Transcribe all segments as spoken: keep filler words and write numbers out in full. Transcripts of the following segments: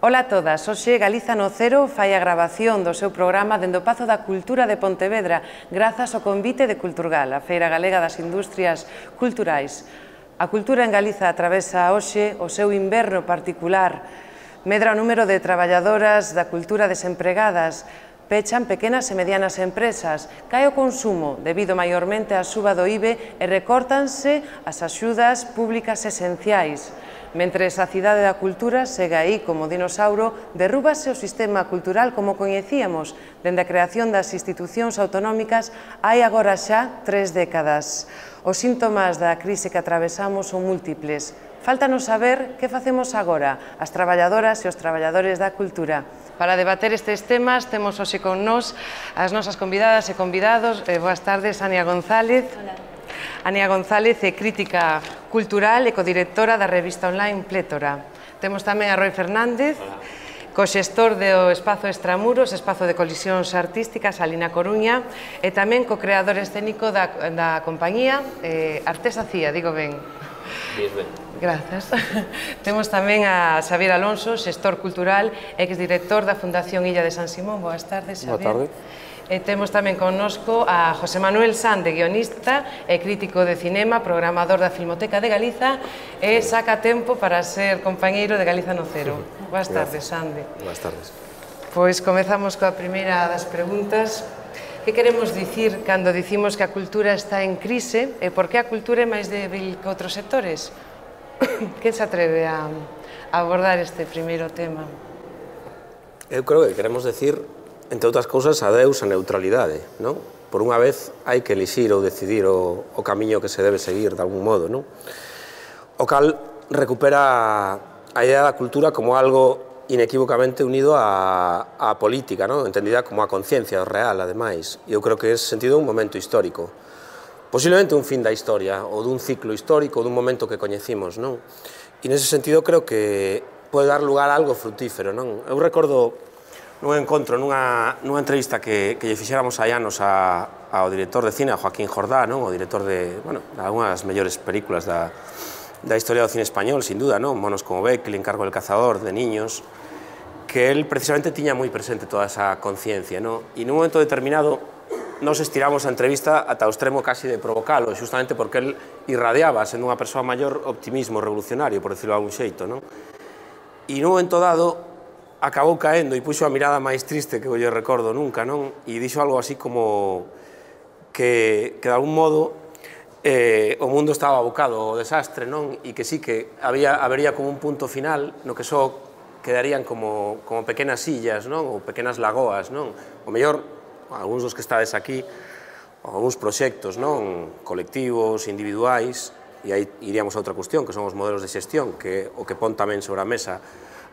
Ola a todas, hoxe Galiza no Cero fai a grabación do seu programa dende o Pazo da Cultura de Pontevedra grazas ao convite de Culturgal, a Feira Galega das Industrias Culturais. A cultura en Galiza atravesa hoxe o seu inverno particular, medra o número de traballadoras da cultura desempregadas, pechan pequenas e medianas empresas, cae o consumo debido maiormente á suba do I B E e recórtanse as axudas públicas esenciais. Mentres a cidade da cultura segue aí como dinosauro, derrúbase o sistema cultural como coñecíamos dende a creación das institucións autonómicas hai agora xa tres décadas. Os síntomas da crise que atravesamos son múltiples. Fáltanos saber que facemos agora, as traballadoras e os traballadores da cultura. Para debater estes temas temos hoxe con nós as nosas convidadas e convidados. Eh, boas tardes, Ania González. Hola. Ania González é crítica cultural e codirectora da revista online Plétora. Temos tamén a Roi Fernández, coxestor do Espazo Extramuros, espazo de colisións artísticas, ali na Coruña, e tamén co-creador escénico da, da compañía eh, Artesa Cía, digo ben. Bien, ben. Grazas. Temos tamén a Xavier Alonso, xestor cultural, exdirector da Fundación Illa de San Simón. Boas tardes, Xavier. Boa tarde. E temos tamén connosco a José Manuel Sande, guionista e crítico de cinema, programador da Filmoteca de Galiza e saca tempo para ser compañeiro de Galiza no Cero. Boas tardes, Sande. Boas tardes. Pois comezamos coa primeira das preguntas. Que queremos dicir cando dicimos que a cultura está en crise e por que a cultura é máis débil que outros sectores? Quen se atreve a abordar este primeiro tema? Eu creo que queremos decir, entre outras cousas, adeus a neutralidade, non? Por unha vez hai que elixir ou decidir o, o camiño que se debe seguir de algún modo, non? O cal recupera a idea da cultura como algo inequívocamente unido á, á política, non? Entendida como a conciencia real, ademais. E eu creo que é sentido un momento histórico. Posiblemente un fin da historia, ou dun ciclo histórico, ou dun momento que coñecimos, non? E nese sentido creo que pode dar lugar a algo frutífero, non? Eu recordo nun encontro, nunha, nunha entrevista que, que lle fixéramos hai anos a, ao director de cine, a Joaquín Jordá, non? O director de, bueno, de algunhas das mellores películas da, da historia do cine español, sin duda, non? Monos como Beck, El encargo del cazador, de niños, que él precisamente tiña moi presente toda esa conciencia, non? E nun momento determinado nos estiramos a entrevista ata o extremo casi de provocalo, justamente porque él irradiaba, sendo unha persoa maior, optimismo revolucionario, por decirlo de algún xeito, non? E nun momento dado acabou caendo e puxo a mirada máis triste que eu lle recordo nunca, non? E dixo algo así como que, que de algún modo eh, o mundo estaba abocado ao desastre, non? E que sí que había, habería como un punto final no que só quedarían como, como pequenas illas, non? Ou pequenas lagoas, non? O mellor, algúns dos que estades aquí, algúns proxectos, non? Colectivos, individuais, e aí iríamos a outra cuestión, que son os modelos de xestión, que o que pon tamén sobre a mesa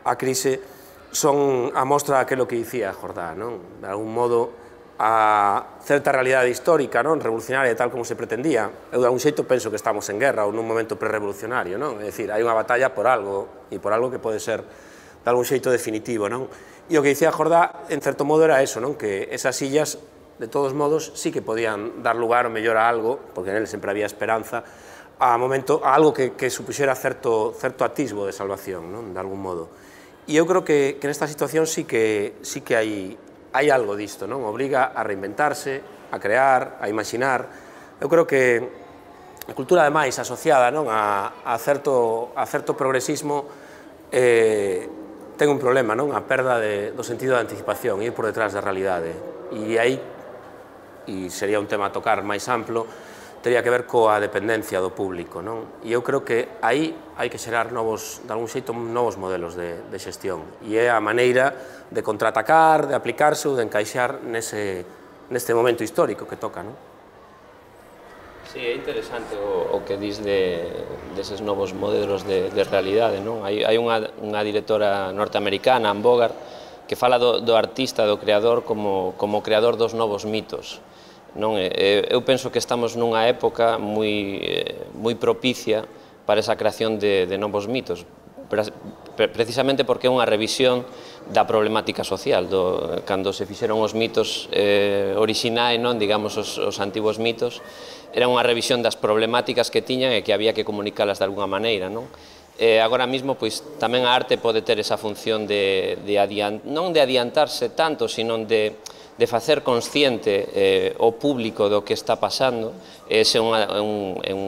a crise, son a mostra daquilo que dicía Jordá, non? De algún modo, a certa realidade histórica, non? Revolucionaria, tal como se pretendía. Eu, de algún xeito, penso que estamos en guerra ou nun momento pre-revolucionario, non? É dicir, hai unha batalla por algo, e por algo que pode ser, de algún xeito, definitivo, non? E o que dicía Jordá, en certo modo, era eso, non? Que esas illas, de todos modos, sí que podían dar lugar o mellor a algo, porque nel sempre había esperanza, a momento, a algo que, que supuxera certo, certo atisbo de salvación, non? De algún modo. E eu creo que, que nesta situación sí que, sí que hai, hai algo disto, non? Obriga a reinventarse, a crear, a imaginar. Eu creo que a cultura, ademais, asociada, non? A, a, certo, a certo progresismo eh, ten un problema, non? A perda de, do sentido de anticipación, ir por detrás da realidade. E aí, e sería un tema a tocar máis amplo, teria que ver coa dependencia do público, non? E eu creo que aí hai que xerar novos, de algún xeito, novos modelos de, de xestión. E é a maneira de contraatacar, de aplicarse ou de encaixar nese, neste momento histórico que toca, non? Sí, é interesante o, o que dis de, deses novos modelos de, de realidade, non? Hai, hai unha, unha directora norteamericana, Ann Bogart, que fala do, do artista, do creador, como, como creador dos novos mitos. Non? Eu penso que estamos nunha época moi, moi propicia para esa creación de, de novos mitos, precisamente porque é unha revisión da problemática social. Do, cando se fixeron os mitos eh, orixinais, non, digamos, os, os antigos mitos, era unha revisión das problemáticas que tiñan e que había que comunicalas de alguna maneira, non? Eh, agora mesmo, pois, tamén a arte pode ter esa función de, de adiant, non de adiantarse tanto, sino de, de facer consciente eh, o público do que está pasando. Ese é unha, un, un,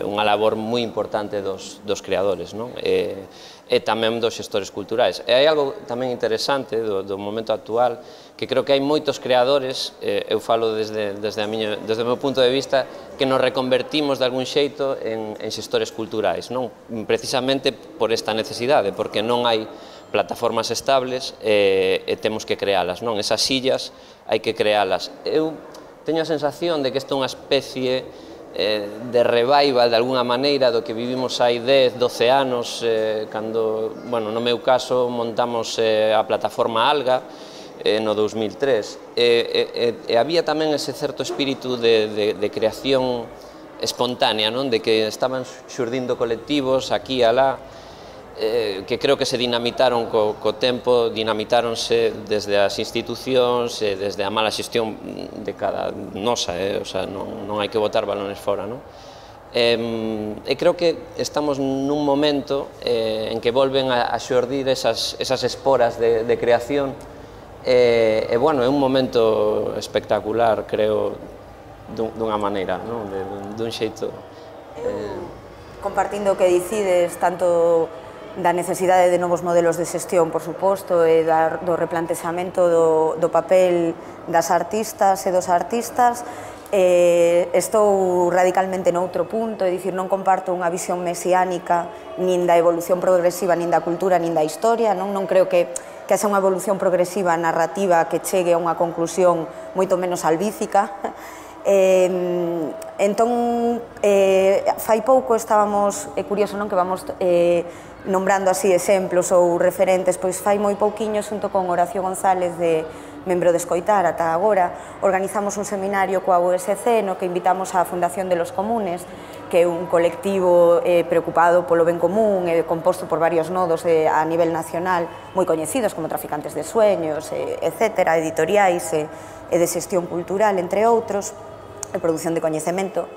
unha labor moi importante dos, dos creadores, non? E, e tamén dos xestores culturais. E hai algo tamén interesante do, do momento actual, que creo que hai moitos creadores, eh, eu falo desde, desde, a miña, desde o meu punto de vista, que nos reconvertimos de algún xeito en, en xestores culturais, non? Precisamente por esta necesidade, porque non hai plataformas estables e, e temos que crealas, non? Esas sillas hai que crealas. Eu teño a sensación de que isto é unha especie eh, de revival, de alguna maneira, do que vivimos hai dez, doce anos, eh, cando, bueno, no meu caso, montamos eh, a plataforma Alga, eh, no dos mil tres, e, e, e había tamén ese certo espírito de, de, de creación espontánea, non? De que estaban xurdindo colectivos aquí e alá, Eh, que creo que se dinamitaron co, co tempo, dinamitáronse desde as institucións, eh, desde a mala xestión de cada nosa, eh, o sea, non, non hai que botar balones fora, non? Eh, e creo que estamos nun momento eh, en que volven a, a xordir esas, esas esporas de, de creación, e, eh, bueno, é un momento espectacular, creo, dun, dunha maneira, non? De, dun xeito... Eh... Compartindo o que dicides, tanto da necesidade de novos modelos de xestión, por suposto, e da, do replantexamento do, do papel das artistas e dos artistas, eh, estou radicalmente noutro punto, é dicir, non comparto unha visión mesiánica nin da evolución progresiva, nin da cultura, nin da historia, non, non creo que, que haxa unha evolución progresiva narrativa que chegue a unha conclusión moito menos albícica. Eh, entón, eh, fai pouco estábamos, é curioso, non, que vamos eh, nombrando así exemplos ou referentes, pois fai moi pouquiño, xunto con Horacio González, de membro de Escoitar ata agora, organizamos un seminario coa U S C no que invitamos á Fundación de los Comunes, que é un colectivo eh, preocupado polo ben común, e composto por varios nodos de, a nivel nacional moi coñecidos como Traficantes de Sueños, eh, etcétera, editoriais e, e de xestión cultural, entre outros, de produción de coñecemento.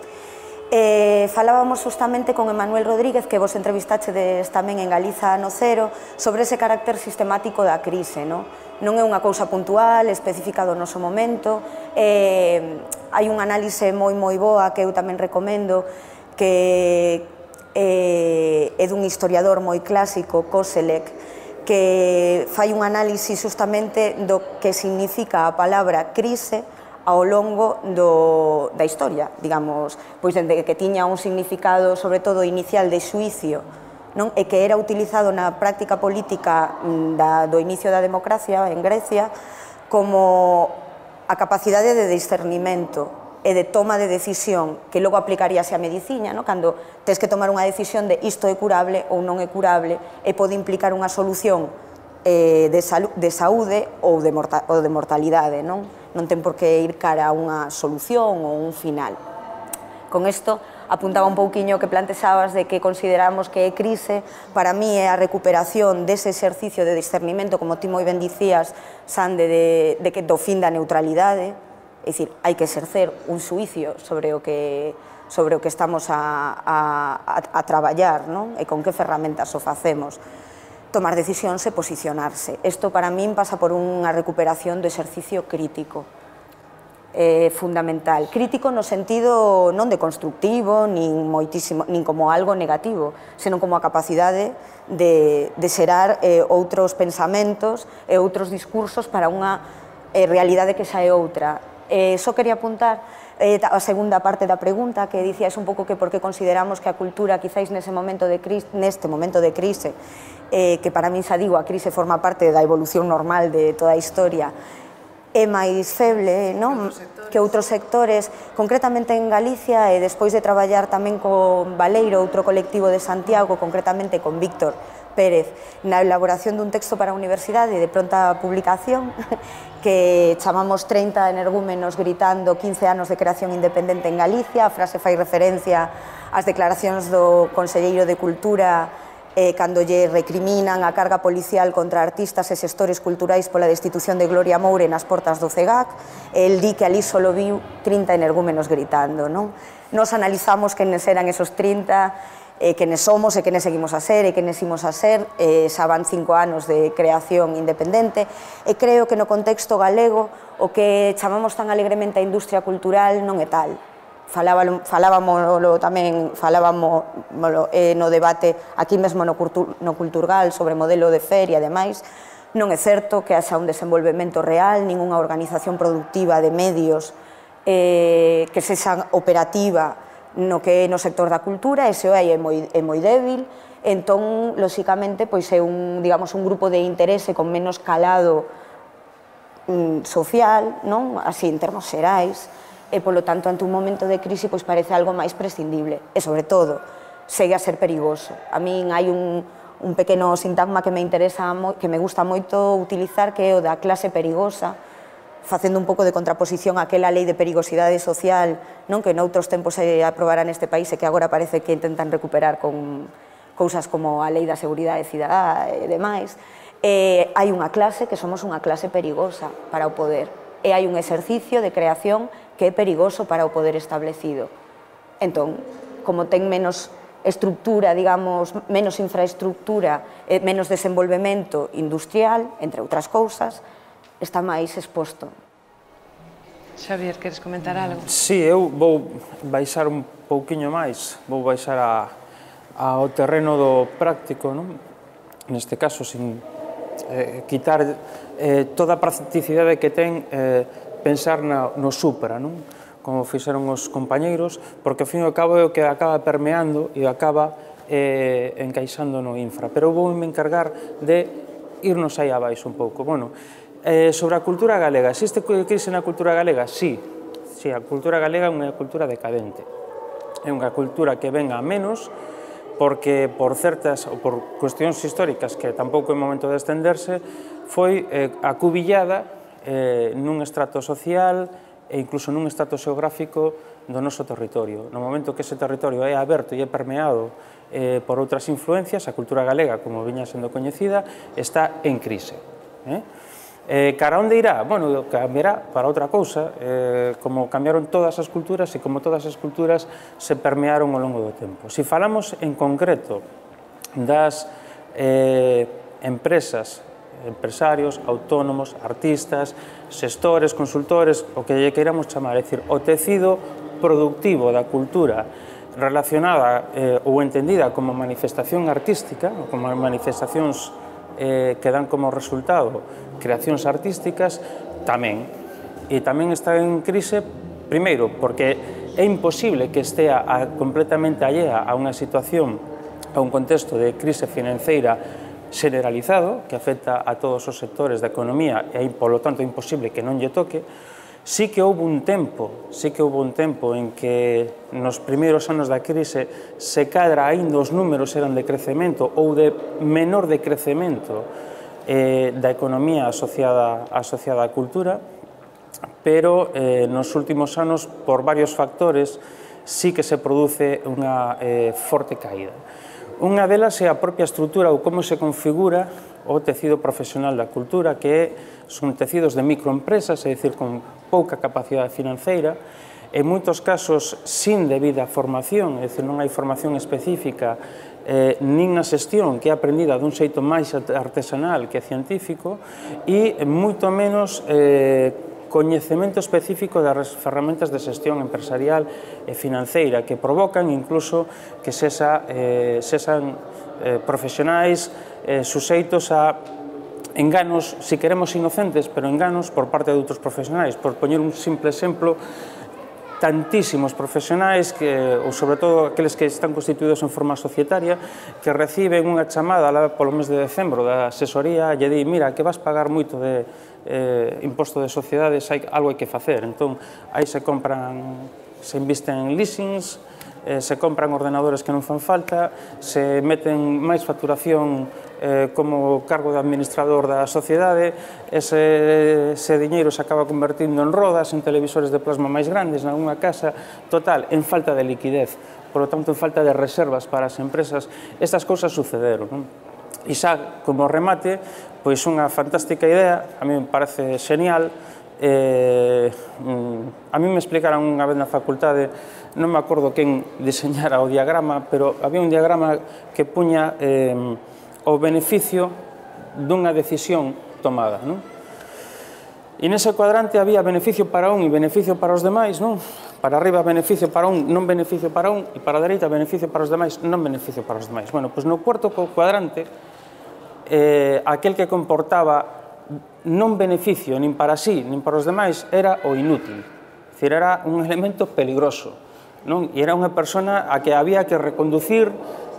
Eh, falábamos justamente con Emanuel Rodríguez, que vos entrevistachedes tamén en Galiza no Cero, sobre ese carácter sistemático da crise, non? Non é unha cousa puntual, específica do noso momento, eh, hai un análise moi moi boa que eu tamén recomendo, que eh, é dun historiador moi clásico, Koselleck, que fai un análise justamente do que significa a palabra crise ao longo do, da historia, digamos, pois dende que tiña un significado, sobre todo inicial, de xuicio, non? E que era utilizado na práctica política da, do inicio da democracia en Grecia como a capacidade de discernimento e de toma de decisión que logo aplicaríase a medicina, non? Cando tes que tomar unha decisión de isto é curable ou non é curable e pode implicar unha solución eh, de, salu de saúde ou de, morta ou de mortalidade, non? Non ten por que ir cara a unha solución ou un final. Con isto apuntaba un pouquiño que plantexabas de que consideramos que é crise. Para mí é a recuperación dese exercicio de discernimento, como ti moi ben dicías, Sande, de, de que do fin da neutralidade, é dicir, hai que exercer un xuicio sobre o que, sobre o que estamos a, a, a, a traballar, non? E con que ferramentas o facemos. Tomar decisións e posicionarse. Isto para min pasa por unha recuperación do exercicio crítico, eh, fundamental. Crítico no sentido non de constructivo, nin, moitísimo, nin como algo negativo, senón como a capacidade de, de xerar eh, outros pensamentos e outros discursos para unha eh, realidade que xa é outra. Eh, só quería apuntar eh, a segunda parte da pregunta, que dicías un pouco que por que consideramos que a cultura, quizáis nese momento de crise, neste momento de crise, eh, que para min xa digo, a crise forma parte da evolución normal de toda a historia, é máis feble, non? Que outros sectores, concretamente en Galicia, e despois de traballar tamén con Baleiro, outro colectivo de Santiago, concretamente con Víctor Pérez na elaboración dun texto para a universidade de pronta publicación que chamamos trinta energúmenos gritando quince anos de creación independente en Galicia. A frase fai referencia ás declaracións do Conselleiro de Cultura eh, cando lle recriminan a carga policial contra artistas e xestores culturais pola destitución de Gloria Moure nas portas do C E G A C. El di que ali solo viu trinta energúmenos gritando, non? Nos analizamos quenes eran esos trinta, eh, quenes somos e quenes seguimos a ser e quenes imos a ser, eh, xa van cinco anos de creación independente, e creo que no contexto galego o que chamamos tan alegremente a industria cultural non é tal. Falábamos tamén falábamos eh, no debate aquí mesmo no, no Culturgal sobre modelo de feria e demais. Non é certo que haxa un desenvolvemento real, ningunha organización productiva de medios eh, que sexa operativa no que é no sector da cultura, ese é moi, é moi débil. Entón, lóxicamente, pois é un, digamos, un grupo de interese con menos calado mm, social, non? Así en termos xerais, e, polo tanto, ante un momento de crise, pois parece algo máis prescindible. E, sobre todo, segue a ser perigoso. A min hai un, un pequeno sintagma que me interesa, que me gusta moito utilizar, que é o da clase perigosa, facendo un pouco de contraposición àquela lei de perigosidade social, non, que noutros tempos se aprobará neste país e que agora parece que intentan recuperar con cousas como a lei da seguridade cidadá e demais. E hai unha clase que somos unha clase perigosa para o poder, e hai un exercicio de creación que é perigoso para o poder establecido. Entón, como ten menos estructura, digamos, menos infraestructura, menos desenvolvemento industrial, entre outras cousas, está máis exposto. Xavier, queres comentar algo? Sí, eu vou baixar un pouquiño máis, vou baixar a, ao terreno do práctico, non? Neste caso, sin eh, quitar eh, toda a practicidade que ten eh, pensar na, no supra, non? Como fixeron os compañeiros, porque ao fin e ao cabo é o que acaba permeando e acaba eh, encaixando no infra. Pero vou me encargar de irnos aí abaixo un pouco. Bueno, eh, sobre a cultura galega, existe crise na cultura galega? Sí, sí, a cultura galega é unha cultura decadente. É unha cultura que ven a menos, porque por certas, ou por cuestións históricas que tampouco é momento de estenderse, foi eh, acubillada Eh, nun estrato social e incluso nun estrato xeográfico do noso territorio. No momento que ese territorio é aberto e é permeado eh, por outras influencias, a cultura galega, como viña sendo coñecida, está en crise. Eh? Eh, cara onde irá? Bueno, cambiará para outra cousa, eh, como cambiaron todas as culturas e como todas as culturas se permearon ao longo do tempo. Se falamos en concreto das eh, empresas, empresarios, autónomos, artistas, xestores, consultores, o que lle queiramos chamar, é dicir, o tecido productivo da cultura relacionada eh, ou entendida como manifestación artística, ou como manifestacións eh, que dan como resultado creacións artísticas, tamén. E tamén está en crise, primeiro, porque é imposible que estea a, completamente allea a unha situación, a un contexto de crise financeira generalizado, que afecta a todos os sectores da economía e, polo tanto, é imposible que non lle toque. Sí que houve un tempo, sí que houve un tempo en que nos primeiros anos da crise se cadra aínda os números eran de crecemento ou de menor decrecemento eh, da economía asociada, asociada á cultura, pero eh, nos últimos anos, por varios factores, sí que se produce unha eh, forte caída. Unha delas é a propia estrutura ou como se configura o tecido profesional da cultura, que son tecidos de microempresas, é dicir, con pouca capacidade financeira, en moitos casos sin debida formación, é dicir, non hai formación específica, eh, nin na xestión, que é aprendida dun xeito máis artesanal que científico, e moito menos eh, coñecemento específico das ferramentas de xestión empresarial e financeira que provocan incluso que sexa, eh, sexan eh, profesionais eh, suxeitos a enganos, si queremos inocentes, pero enganos por parte de outros profesionais. Por poñer un simple exemplo, tantísimos profesionais, que, ou sobre todo aqueles que están constituídos en forma societaria, que reciben unha chamada lá polo mes de decembro da asesoría e di, mira, que vas pagar moito de eh, imposto de sociedades, hai, algo hai que facer. Entón, aí se compran, se invisten en leasings, se compran ordenadores que non fan falta, se meten máis facturación como cargo de administrador da sociedade, ese diñeiro se acaba convertindo en rodas, en televisores de plasma máis grandes, na unha casa, total, en falta de liquidez, por lo tanto, en falta de reservas para as empresas. Estas cousas sucederon, non? E xa, como remate, pois unha fantástica idea, a mí me parece genial. A mí me explicaron unha vez na facultade, non me acordo quen diseñara o diagrama, pero había un diagrama que puña o beneficio dunha decisión tomada, non? E nese cuadrante había beneficio para un e beneficio para os demais, non? Para arriba beneficio para un, non beneficio para un, e para a dereita beneficio para os demais, non beneficio para os demais. Bueno, pois no cuarto cuadrante, eh, aquel que comportaba non beneficio nin para sí, nin para os demais, era o inútil. É dicir, era un elemento peligroso, non? E era unha persona a que había que reconducir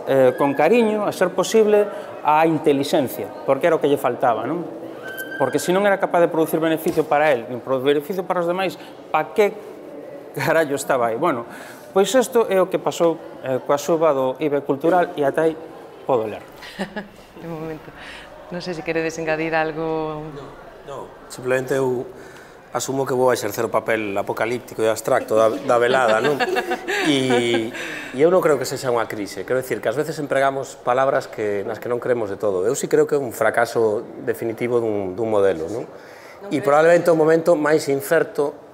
eh, con cariño, a ser posible, a inteligencia, porque era o que lle faltaba, non? Porque se non era capaz de producir beneficio para él, nin producir beneficio para os demais, pa que carallo estaba aí? Bueno, pois isto é o que pasou eh, coa suba do I B E cultural e ata aí podo ler. De momento. Non sei se queredes engadir algo... Non, simplemente eu asumo que vou a exercer o papel apocalíptico e abstracto da, da velada, non? E, e eu non creo que sexa unha crise, quero dicir que ás veces empregamos palabras que, nas que non creemos de todo. Eu sí creo que é un fracaso definitivo dun, dun modelo, non? E probablemente o momento máis incerto,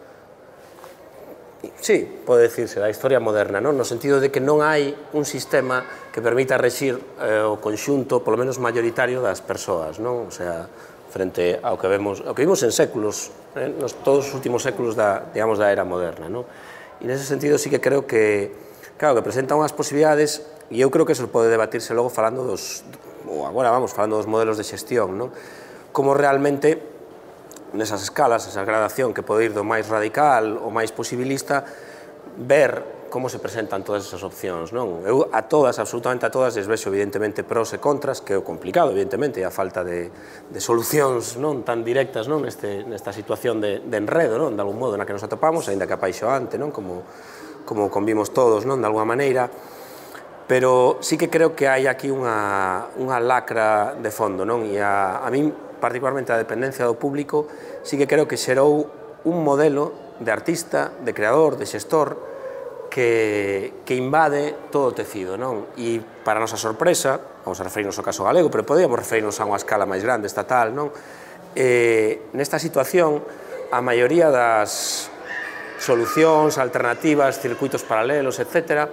sí, pode dicirse, da historia moderna, non? No sentido de que non hai un sistema que permita rexir eh, o conxunto, polo menos mayoritario, das persoas, non? O sea, frente ao que vemos, ao que vimos en séculos, eh, nos todos os últimos séculos da, digamos, da era moderna, non? E nese sentido sí que creo que, claro, que presenta unhas posibilidades, e eu creo que eso pode debatirse logo falando dos, ou agora vamos, falando dos modelos de xestión, non? Como realmente, nesas escalas, esa gradación que pode ir do máis radical ao máis posibilista, ver como se presentan todas esas opcións, non? Eu a todas, absolutamente a todas, les vexo evidentemente pros e contras, que é o complicado, evidentemente, e a falta de, de solucións non tan directas, non? Neste, nesta situación de, de enredo, non? De algún modo na que nos atopamos, aínda que apaixoante, non? Como, como convimos todos, non? De alguna maneira, pero sí que creo que hai aquí unha, unha lacra de fondo, non? E a, a min, particularmente a dependencia do público, sí que creo que xerou un modelo de artista, de creador, de xestor, que, que invade todo o tecido, non? E para a nosa sorpresa, vamos a referirnos ao caso galego, pero podíamos referirnos a unha escala máis grande, estatal, non? Eh, nesta situación, a maioría das solucións, alternativas, circuitos paralelos, etcétera,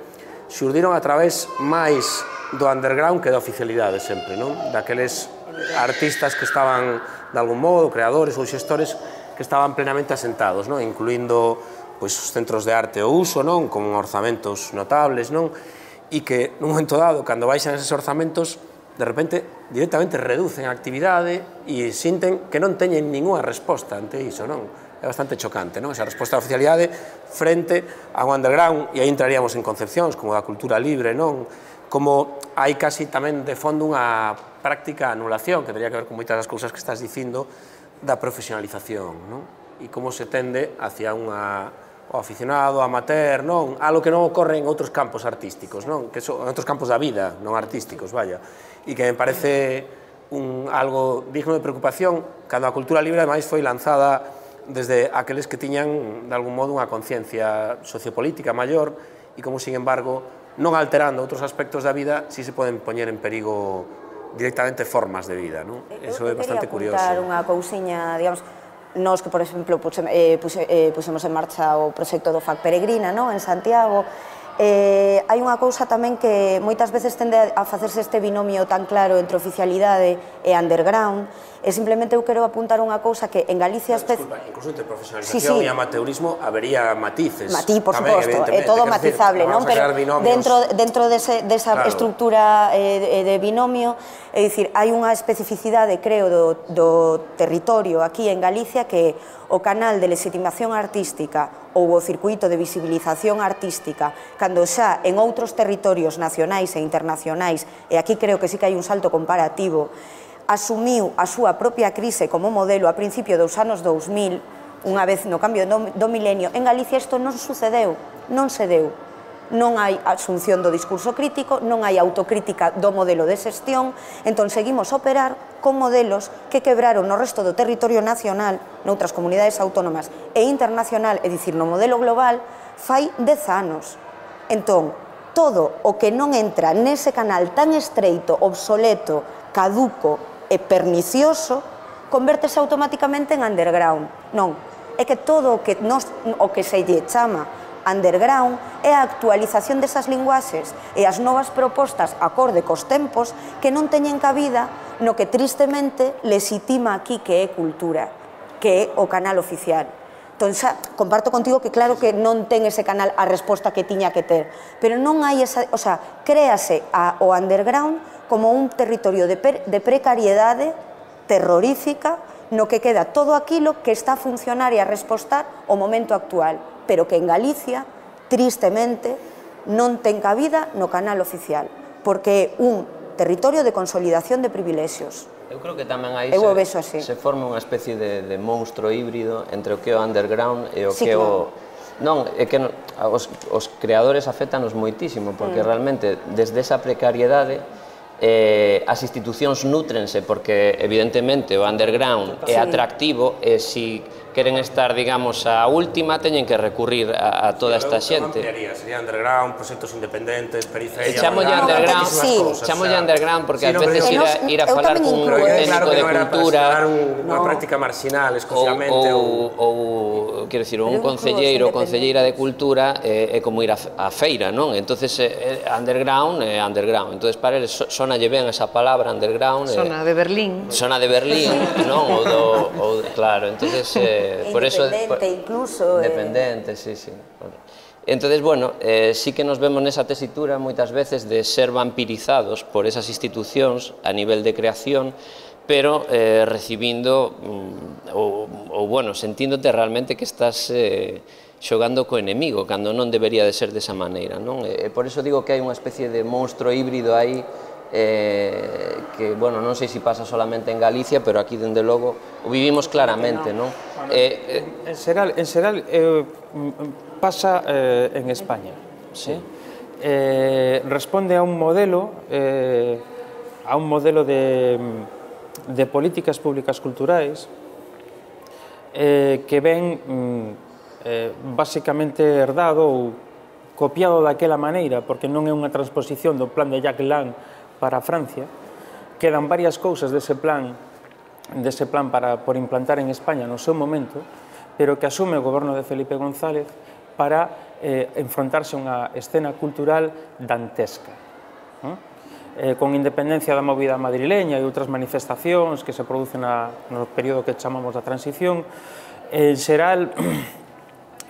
xurdiron a través máis do underground que da oficialidade sempre, non? Daqueles artistas que estaban, de algún modo, creadores ou xestores, que estaban plenamente asentados, non? Incluindo pois, os centros de arte ou uso, non? Con orzamentos notables, non? E que, nun momento dado, cando baixan eses orzamentos, de repente, directamente reducen a actividade e sinten que non teñen ninguna resposta ante iso, non? É bastante chocante, non? Esa resposta da oficialidade frente ao underground, e aí entraríamos en concepcións como da cultura libre, non? Como hai casi tamén de fondo unha práctica anulación, que teria que ver con moitas das cousas que estás dicindo, da profesionalización, non? E como se tende hacia unha o aficionado, amateur, non? Algo que non ocorre en outros campos artísticos, non? Que son en outros campos da vida, non artísticos, vaya. E que me parece un, algo digno de preocupación, cando a cultura libre, ademais, foi lanzada desde aqueles que tiñan, de algún modo, unha conciencia sociopolítica maior e como, sin embargo, non alterando outros aspectos da vida, si se poden poñer en perigo directamente formas de vida, non? Eso é bastante curioso. Eu quería apuntar unha cousiña, digamos, nos que, por exemplo, pusemos en marcha o proxecto do F A C Peregrina, non? En Santiago, eh, hai unha cousa tamén que moitas veces tende a facerse este binomio tan claro entre oficialidade e underground, e simplemente eu quero apuntar unha cousa que en Galicia... Disculpa, incluso entre profesionalización e amateurismo habería matices. Matí, por suposto, é todo matizable, non? Pero dentro desa estructura de binomio, é dicir, hai unha especificidade, creo, do territorio aquí en Galicia que o canal de legitimación artística ou o circuito de visibilización artística, cando xa en outros territorios nacionais e internacionais, e aquí creo que sí que hai un salto comparativo, asumiu a súa propia crise como modelo a principio dos anos dous mil, unha vez no cambio do milenio, en Galicia isto non sucedeu, non se deu. non hai asunción do discurso crítico, non hai autocrítica do modelo de xestión, entón seguimos a operar con modelos que quebraron no resto do territorio nacional, noutras comunidades autónomas e internacional, é dicir, no modelo global, fai dez anos. Entón, todo o que non entra nese canal tan estreito, obsoleto, caduco e pernicioso, convértese automáticamente en underground. Non, é que todo o que, nos, o que se lle chama underground é a actualización desas linguaxes e as novas propostas acorde cos tempos que non teñen cabida no que tristemente legitima aquí que é cultura, que é o canal oficial. Entón, xa, comparto contigo que claro que non ten ese canal a resposta que tiña que ter, pero non hai esa, o sea, créase a, o underground como un territorio de, per, de precariedade terrorífica no que queda todo aquilo que está a funcionar e a respostar o momento actual, pero que en Galicia, tristemente, non ten cabida no canal oficial, porque é un territorio de consolidación de privilexios. Eu creo que tamén aí se, se forma unha especie de, de monstro híbrido entre o que é o underground e o sí, que é claro. o... Non, é que os, os creadores afectanos moitísimo, porque mm. realmente desde esa precariedade eh, as institucións nútrense, porque evidentemente o underground é atractivo e se queren estar, digamos, a última, teñen que recurrir a, a toda esta xente. Sería underground, proxectos independentes, periferia... Chamolle underground, chamolle underground, porque ás veces ir a falar cun técnico de cultura... Unha práctica marginal, exclusivamente... Ou, quero dicir, un concelleiro ou concelleira de cultura é como ir a feira, non? Entonces, underground é underground. Entonces, para eles, sonalle ben esa palabra, underground... Sona de Berlín. Sona de Berlín, non? Ou, claro, entonces... Por independente eso, incluso. Independente, eh... sí, sí. Entonces, bueno, eh, sí que nos vemos nesa tesitura moitas veces de ser vampirizados por esas institucións a nivel de creación, pero eh, recibindo, mm, ou, ou, bueno, sentíndote realmente que estás eh, xogando co enemigo, cando non debería de ser desa maneira, non? E, por eso digo que hai unha especie de monstro híbrido aí, Eh, que, bueno, non sei se pasa solamente en Galicia, pero aquí, dende logo, o vivimos claramente, non? Bueno, eh, en Seral, en Seral eh, pasa eh, en España, sí. Eh, responde a un modelo, eh, a un modelo de, de políticas públicas culturais eh, que ven eh, basicamente herdado ou copiado daquela maneira, porque non é unha transposición do plan de Jacques Lang para Francia. Quedan varias cousas dese plan, dese plan para, por implantar en España no seu momento, pero que asume o goberno de Felipe González para eh, enfrontarse a unha escena cultural dantesca. Eh, con independencia da movida madrileña e outras manifestacións que se producen na, no período que chamamos da transición, en xeral,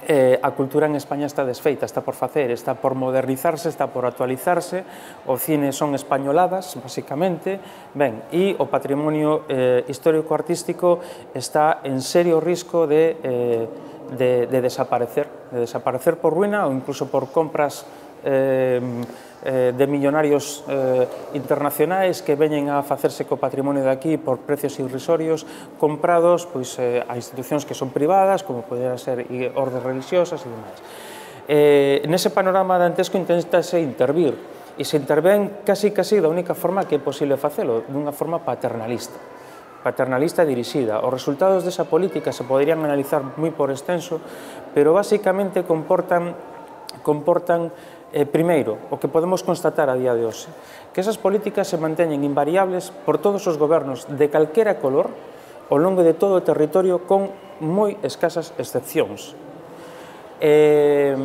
Eh, a cultura en España está desfeita, está por facer, está por modernizarse, está por actualizarse, o cine son españoladas, basicamente, ben, e o patrimonio eh, histórico-artístico está en serio risco de, eh, de, de desaparecer, de desaparecer por ruína ou incluso por compras eh, eh, de millonarios eh, internacionais que veñen a facerse co patrimonio de aquí por precios irrisorios, comprados pois, eh, a institucións que son privadas, como poderan ser ordes religiosas e demais. Eh, nese panorama dantesco intentase intervir, e se intervén casi casi da única forma que é posible facelo, dunha forma paternalista. paternalista dirixida. Os resultados desa política se poderían analizar moi por extenso, pero basicamente comportan, comportan Eh, primeiro, o que podemos constatar a día de hoxe, que esas políticas se manteñen invariables por todos os gobernos de calquera color ao longo de todo o territorio con moi escasas excepcións. Eh,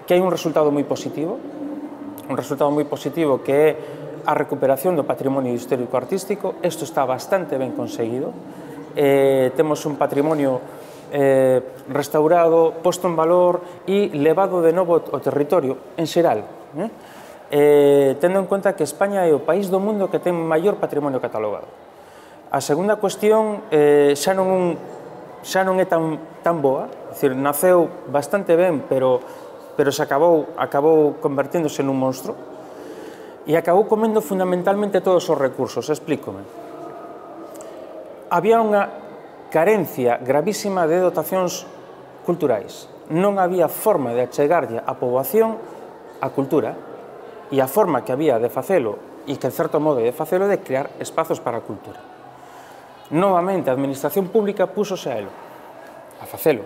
que hai un resultado moi positivo, un resultado moi positivo que é a recuperación do patrimonio histórico-artístico. Isto está bastante ben conseguido. Eh, temos un patrimonio Eh, restaurado, posto en valor e levado de novo ao territorio en xeral, eh? Eh, tendo en conta que España é o país do mundo que ten maior patrimonio catalogado. A segunda cuestión eh, xa, non, xa non é tan, tan boa, é dicir, naceu bastante ben, pero, pero se acabou, acabou converténdose nun monstro e acabou comendo fundamentalmente todos os recursos. Explícome. Había unha carencia gravísima de dotacións culturais. Non había forma de achegarlle á poboación a cultura e a forma que había de facelo e que, en certo modo, de facelo de crear espazos para a cultura. Novamente, a administración pública púsose a elo, a facelo,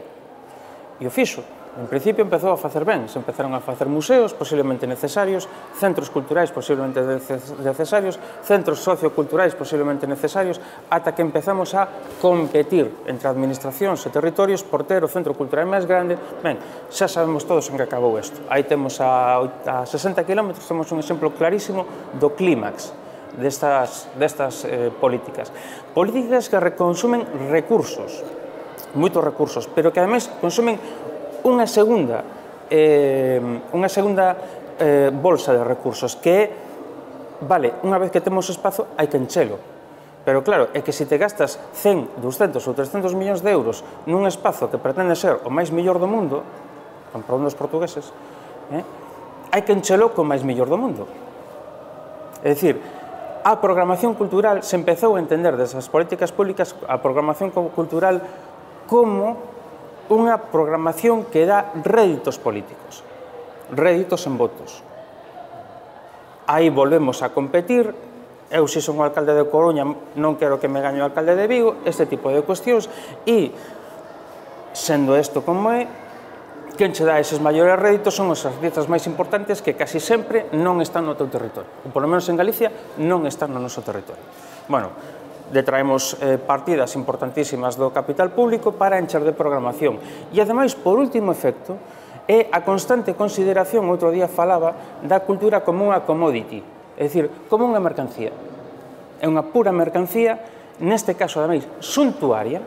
e o fixo. En principio empezou a facer ben, se empezaron a facer museos posiblemente necesarios, centros culturais posiblemente necesarios, centros socioculturais posiblemente necesarios, ata que empezamos a competir entre administracións e territorios por ter o centro cultural máis grande. Ben, xa sabemos todos en que acabou isto. Aí temos a sesenta kilómetros, temos un exemplo clarísimo do clímax destas, destas eh, políticas. Políticas que consumen recursos, moitos recursos, pero que ademais consumen unha segunda, eh, unha segunda eh, bolsa de recursos que é, vale, unha vez que temos espazo hai que enchelo, pero claro, é que se te gastas cen, doscientos ou trescentos millóns de euros nun espazo que pretende ser o máis mellor do mundo, con perdón dos portugueses, eh, hai que enchelo co máis mellor do mundo. É dicir, a programación cultural se empezou a entender desas políticas públicas, a programación cultural como unha programación que dá réditos políticos, réditos en votos. Aí volvemos a competir, eu se son o alcalde de Coruña non quero que me gañe o alcalde de Vigo, este tipo de cuestións, e, sendo isto como é, quen che dá eses maiores réditos son os artistas máis importantes que casi sempre non están no teu territorio, ou polo menos en Galicia non están no noso territorio. Bueno, detraemos eh, partidas importantísimas do capital público para encher de programación. E, ademais, por último efecto, é a constante consideración, outro día falaba, da cultura como unha commodity, é dicir, como unha mercancía. É unha pura mercancía, neste caso, ademais, suntuaria,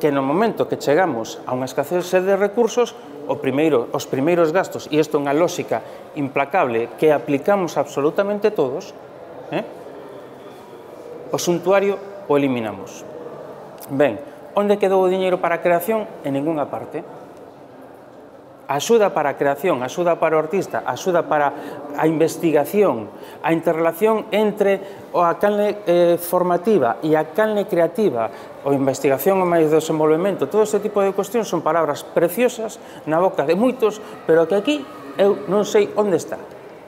que no momento que chegamos a unha escasez de recursos, o primeiro, os primeiros gastos, e isto é unha lógica implacable que aplicamos absolutamente todos, eh? o suntuario o eliminamos. Ben, onde quedou o diñeiro para a creación? En ninguna parte. Axuda para a creación, axuda para o artista, axuda para a investigación, a interrelación entre a canle eh, formativa e a canle creativa, a investigación e máis desenvolvemento, todo este tipo de cuestións son palabras preciosas na boca de moitos, pero que aquí eu non sei onde está.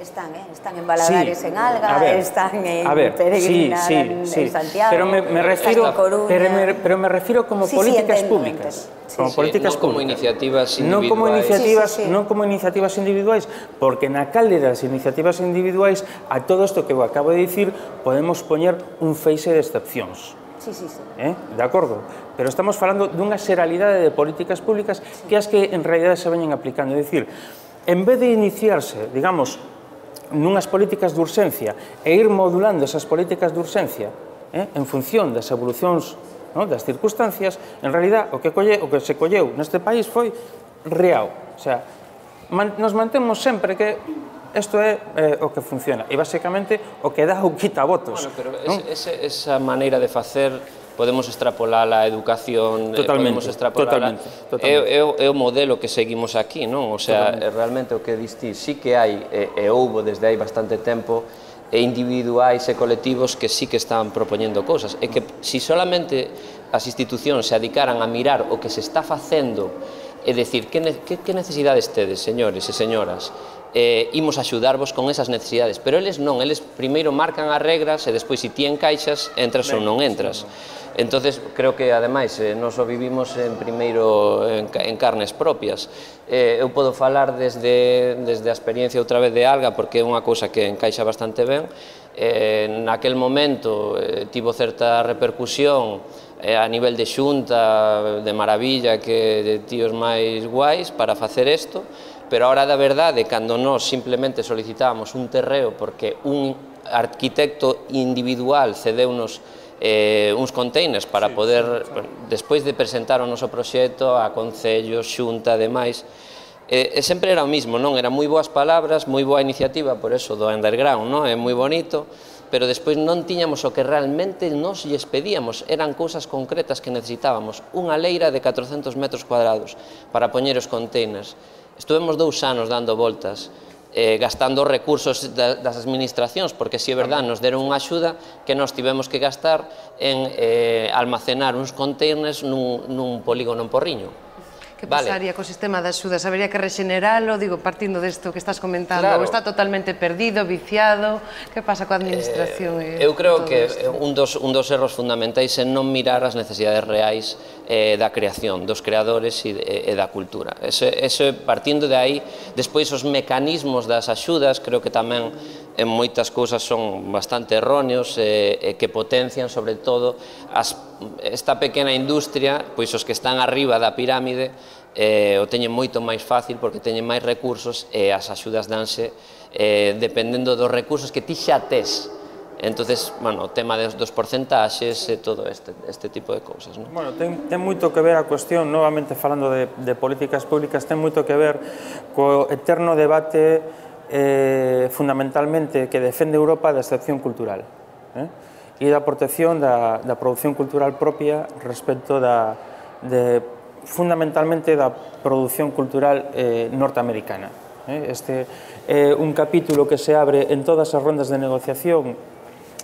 Están, eh? Están en Baladares, sí, en Alga, ver, están en ver, Peregrinar, sí, sí, en, sí. en Santiago, pero me, me refiero, en Coruña. Pero me, pero me refiero como sí, políticas sí, entiendo, públicas. entiendo. Sí, como sí. políticas sí, non como públicas. iniciativas individuais. Non como iniciativas, sí, sí, sí. non como iniciativas individuais, porque na calde das iniciativas individuais a todo isto que eu acabo de dicir podemos poñer un feixe de excepcións. Sí, sí, sí. Eh? De acordo? Pero estamos falando dunha xeralidade de políticas públicas sí. que as que en realidade se veñen aplicando. É dicir, en vez de iniciarse, digamos, nunhas políticas de urxencia e ir modulando esas políticas de urxencia eh, en función das evolucións, no, das circunstancias, en realidad o que, colle, o que se colleu neste país foi real. O sea, man, nos mantemos sempre que isto é eh, o que funciona e basicamente o que dá o quita votos. Bueno, pero ¿no? ese, esa maneira de facer podemos extrapolar a educación, totalmente, podemos extrapolar totalmente, totalmente. É, é, é o modelo que seguimos aquí, non? O sea, totalmente. Realmente o que distí, sí que hai, e, e houbo desde hai bastante tempo, e individuais e colectivos que sí que están propoñendo cousas, e que si solamente as institucións se adicaran a mirar o que se está facendo, e decir, que, que, que necesidades tedes, señores e señoras, eh, imos axudarvos con esas necesidades, pero eles non, eles primeiro marcan as regras e despois se ti encaixas, entras ou non entras. Entonces, creo que, ademais, eh, nos o vivimos en primeiro en, en carnes propias. Eh, eu podo falar desde, desde a experiencia outra vez de Alga, porque é unha cousa que encaixa bastante ben. Eh, naquel momento eh, tivo certa repercusión eh, a nivel de xunta, de maravilla, que de tíos máis guais para facer isto, pero a hora da verdade, cando nós simplemente solicitábamos un terreo porque un arquitecto individual cedeunos Eh, uns containers para poder, despois de presentar o noso proxecto a concellos, xunta, demais, e, e sempre era o mismo, non? Eran moi boas palabras, moi boa iniciativa, por eso do underground, non? É moi bonito, pero despois non tiñamos o que realmente nos lles pedíamos, eran cousas concretas que necesitábamos, unha leira de catrocentos metros cuadrados para poñer os containers. Estuvemos dous anos dando voltas, Eh, gastando recursos da, das administracións, porque si é verdade, nos deron unha axuda que nos tivemos que gastar en eh, almacenar uns containers nun, nun polígono en Porriño, Que pasaría co sistema de axudas? Habería que rexeneralo, digo, partindo desto que estás comentando, ou está totalmente perdido, viciado? Que pasa coa administración? Eu creo que un dos erros fundamentais é non mirar as necesidades reais da creación, dos creadores e da cultura. Ese, partindo de aí, despois os mecanismos das axudas, creo que tamén en moitas cousas son bastante erróneos e que potencian, sobre todo, esta pequena industria, pois os que están arriba da pirámide o teñen moito máis fácil porque teñen máis recursos e as axudas danse dependendo dos recursos que ti xa tes. Entonces, bueno, o tema dos porcentaxes e todo este tipo de cousas. Bueno, ten moito que ver a cuestión, novamente falando de políticas públicas, ten moito que ver co eterno debate fundamentalmente que defende Europa da excepción cultural e da protección da produción cultural propia respecto da fundamentalmente da produción cultural norteamericana. Este é un capítulo que se abre en todas as rondas de negociación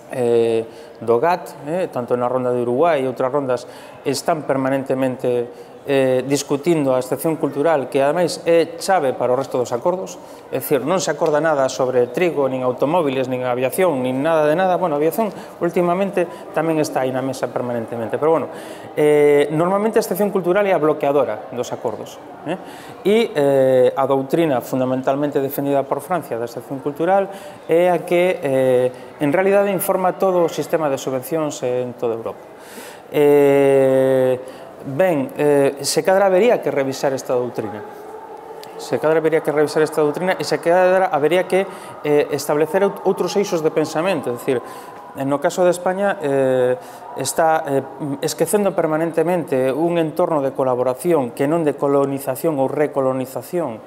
do G A T, tanto na ronda de Uruguai e outras rondas, están permanentemente discutindo a excepción cultural, que ademais é chave para o resto dos acordos, é dicir, non se acorda nada sobre trigo, nin automóviles, nin aviación, nin nada de nada. Bueno, a aviación últimamente tamén está aí na mesa permanentemente, pero bueno, normalmente a excepción cultural é a bloqueadora dos acordos, e a doutrina fundamentalmente defendida por Francia da excepción cultural é a que en realidade informa todo o sistema de subvencións en toda Europa. Ben, se cadra habería que revisar esta doutrina. Se cadra habería que revisar esta doutrina e se cadra habería que establecer outros eixos de pensamento. É dicir, no caso de España está esquecendo permanentemente un entorno de colaboración que non de colonización ou recolonización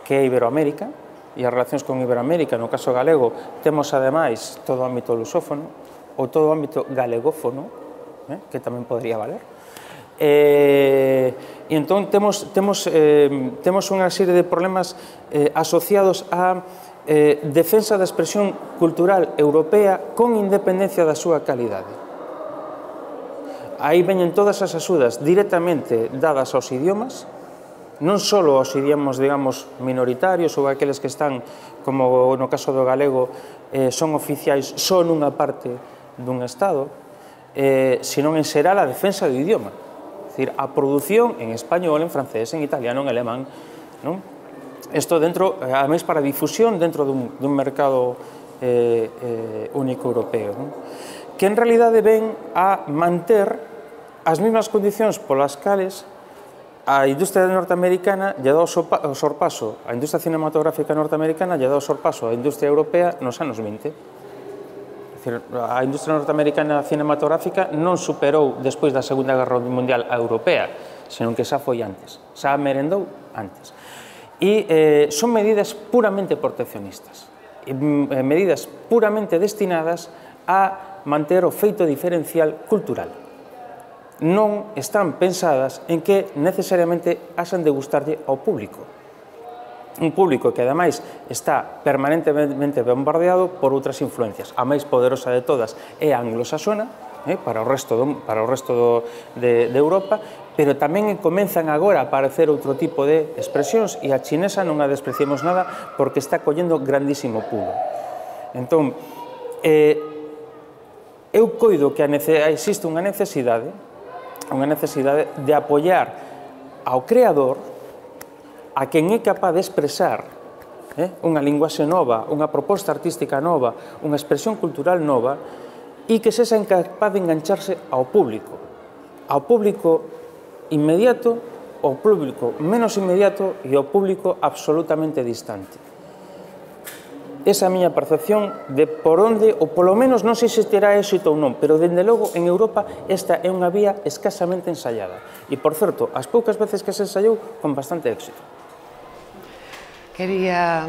que é Iberoamérica, e as relacións con Iberoamérica, no caso galego, temos ademais todo o ámbito lusófono ou todo o ámbito galegófono, que tamén podría valer. E entón temos unha serie de problemas asociados á defensa da expresión cultural europea con independencia da súa calidade. Aí veñen todas as axudas directamente dadas aos idiomas, non só aos idiomas, digamos, minoritarios ou aqueles que están, como no caso do galego, son oficiais só nunha parte dun Estado, senón en xeral a defensa do idioma. É dicir, a produción en español, en francés, en italiano, en alemán, isto dentro, ademais para difusión dentro dun mercado único europeo, que en realidade ven a manter as mesmas condicións polas cales a industria norteamericana lle dá o sorpaso, a industria cinematográfica norteamericana lle dá o sorpaso a industria europea nos anos vinte. A industria norteamericana cinematográfica non superou despois da Segunda Guerra Mundial a europea, senón que xa foi antes, xa merendou antes. E son medidas puramente proteccionistas, medidas puramente destinadas a manter o feito diferencial cultural. Non están pensadas en que necesariamente haxan de gustarlle ao público. Un público que, ademais, está permanentemente bombardeado por outras influencias. A máis poderosa de todas é a anglosaxona, para o resto de Europa, pero tamén comenzan agora a aparecer outro tipo de expresións e a chinesa non a despreciemos nada porque está collendo grandísimo pulo. Entón, eu coido que existe unha necesidade unha necesidade de apoiar ao creador, a quen é capaz de expresar unha linguaxe nova, unha proposta artística nova, unha expresión cultural nova, e que sexa capaz de engancharse ao público, ao público inmediato, ao público menos inmediato e ao público absolutamente distante. Esa é a miña percepción de por onde, ou polo menos non sei se terá éxito ou non, pero dende logo en Europa esta é unha vía escasamente ensaiada. E, por certo, as poucas veces que se ensaiou, con bastante éxito. Quería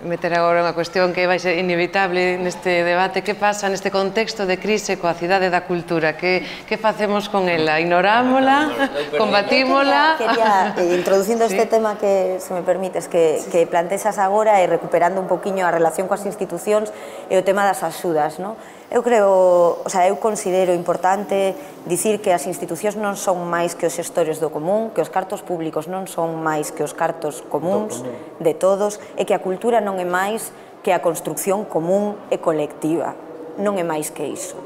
meter agora unha cuestión que vai ser inevitable neste debate. Que pasa neste contexto de crise coa cidade da cultura? Que facemos con ela? Ignorámola? Combatímola? Quería, introducindo este tema que, se me permites, que plantexas agora e recuperando un poquinho a relación coas institucións e o tema das axudas, non? Eu creo, o sea, eu considero importante dicir que as institucións non son máis que os xestores do común, que os cartos públicos non son máis que os cartos comuns de todos, e que a cultura non é máis que a construcción común e colectiva. Non é máis que iso.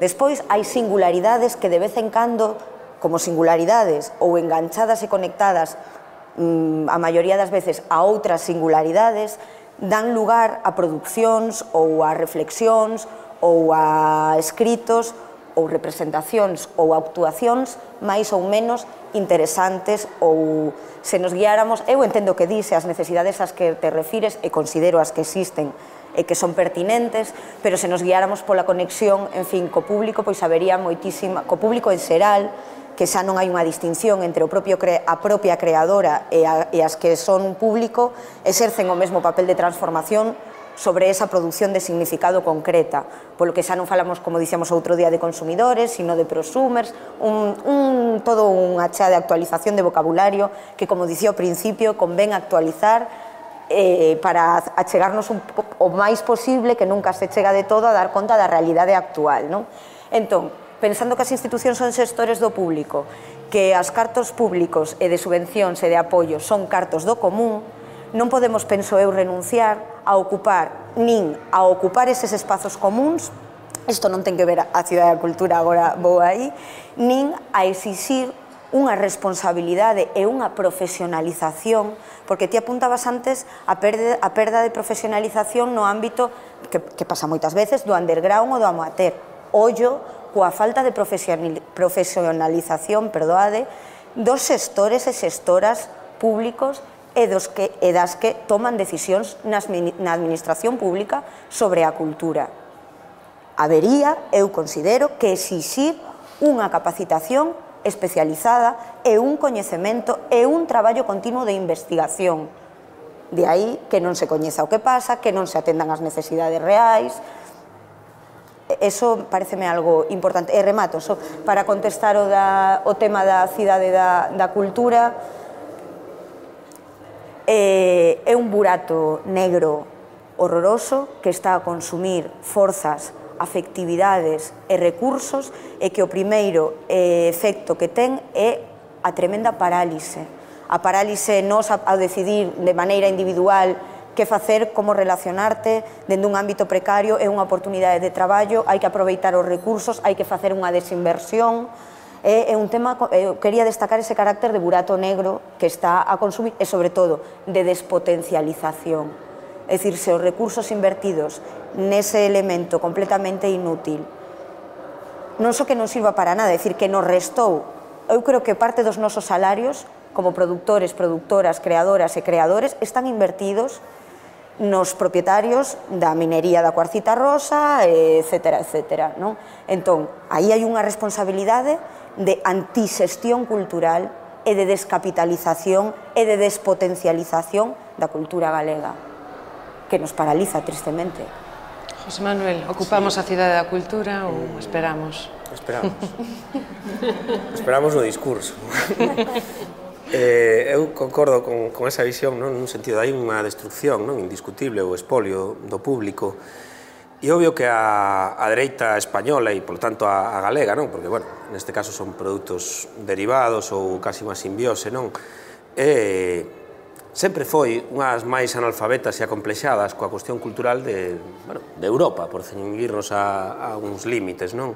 Despois, hai singularidades que de vez en cando, como singularidades ou enganchadas e conectadas a maioría das veces a outras singularidades, dan lugar a producións ou a reflexións ou a escritos ou representacións ou actuacións máis ou menos interesantes, ou se nos guiáramos, eu entendo que dice as necesidades ás que te refires e considero as que existen e que son pertinentes, pero se nos guiáramos pola conexión, en fin, co público, pois habería moitísima, co público en xeral, que xa non hai unha distinción entre o propio a propia creadora e, a, e as que son público, exercen o mesmo papel de transformación sobre esa produción de significado concreta, polo que xa non falamos, como dicíamos outro día, de consumidores, sino de prosumers, un, un, todo unha chea de actualización de vocabulario que, como dicía ao principio, convén actualizar eh, para achegarnos un, o máis posible, que nunca se chega de todo, a dar conta da realidade actual, non? Entón, pensando que as institucións son xestores do público, que as cartos públicos e de subvencións e de apoio son cartos do común, non podemos, penso eu, renunciar a ocupar, nin a ocupar eses espazos comuns, isto non ten que ver a Cidade da Cultura, agora vou aí, nin a exixir unha responsabilidade e unha profesionalización, porque ti apuntabas antes a perda, a perda de profesionalización no ámbito, que, que pasa moitas veces, do underground ou do amateur. Ollo coa falta de profesionalización, perdoade, dos xestores e xestoras públicos e, dos que, e das que toman decisións nas, na administración pública sobre a cultura. Habería, eu considero, que exixir unha capacitación especializada e un coñecemento e un traballo continuo de investigación. De aí que non se coñeza o que pasa, que non se atendan as necesidades reais. Eso pareceme algo importante. E remato, so, para contestar o, da, o tema da cidade da, da cultura, eh, é un burato negro horroroso que está a consumir forzas, afectividades e recursos, e que o primeiro eh, efecto que ten é a tremenda parálise. A parálise nos a, a decidir de maneira individual que facer, como relacionarte dentro dun ámbito precario, é unha oportunidade de traballo, hai que aproveitar os recursos, hai que facer unha desinversión. É un tema, eu quería destacar ese carácter de burato negro que está a consumir e, sobre todo, de despotencialización. É dicir, se os recursos invertidos nese elemento completamente inútil non só que non sirva para nada, é dicir, que nos restou, eu creo que parte dos nosos salarios como productores, productoras, creadoras e creadores están invertidos nos propietarios da minería da cuarcita rosa, etcétera, etcétera, non? Entón, aí hai unha responsabilidade de antisestión cultural e de descapitalización e de despotencialización da cultura galega, que nos paraliza, tristemente. José Manuel, ocupamos a Cidade da Cultura ou esperamos? Esperamos. Esperamos no discurso. Eh, eu concordo con, con esa visión, non? Nun sentido, hai unha destrucción, non? Indiscutible, o espolio do público, e obvio que a, a dereita española e, por tanto, a, a galega, non? Porque, bueno, neste caso son produtos derivados ou casi unha simbiose, non? E sempre foi unhas máis analfabetas e acomplexadas coa cuestión cultural de, bueno, de Europa, por ceñirnos a, a uns límites, non?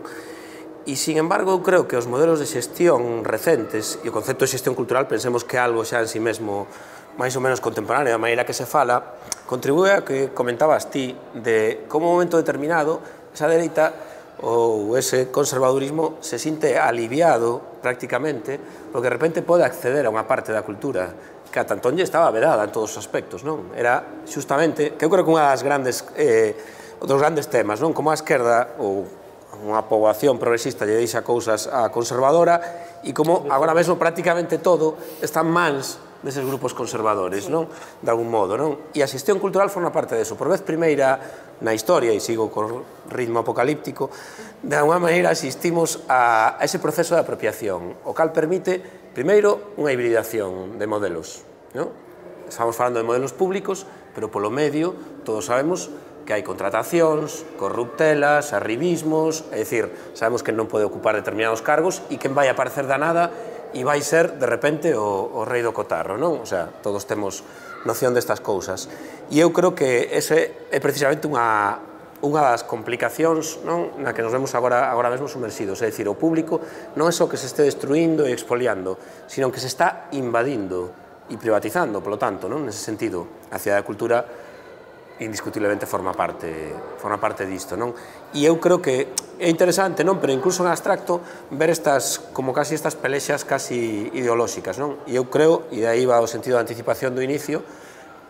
E, sin embargo, eu creo que os modelos de xestión recentes e o concepto de xestión cultural, pensemos que algo xa en si mesmo máis ou menos contemporáneo, da maneira que se fala, contribúe a que comentabas ti de como un momento determinado esa dereita ou ese conservadurismo se sinte aliviado prácticamente porque de repente pode acceder a unha parte da cultura que a Tantón lle estaba vedada en todos os aspectos, non? Era xustamente, que eu creo que unha das grandes, eh, dos grandes temas, non? Como a esquerda ou unha poboación progresista lle deixa cousas a conservadora e como agora mesmo prácticamente todo está en mans deses grupos conservadores, non? De algún modo, non? E a xestión cultural forma parte deso. Por vez primeira na historia, e sigo con ritmo apocalíptico, de alguna maneira asistimos a ese proceso de apropiación, o cal permite, primeiro, unha hibridación de modelos, non? Estamos falando de modelos públicos, pero polo medio, todos sabemos, que hai contratacións, corruptelas, arribismos, é dicir, sabemos que non pode ocupar determinados cargos e quen vai aparecer da nada e vai ser, de repente, o, o rei do cotarro, non? O sea, todos temos noción destas cousas. E eu creo que ese é precisamente unha, unha das complicacións, non? Na que nos vemos agora, agora mesmo sumersidos, é dicir, o público non é só que se este destruindo e expoliando, sino que se está invadindo e privatizando, polo tanto, non? Nese sentido, a cidade da cultura indiscutiblemente forma parte forma parte disto, non? E eu creo que é interesante, non? Pero incluso en abstracto ver estas, como casi estas pelexas casi ideolóxicas, non? E eu creo, e de aí va o sentido de anticipación do inicio,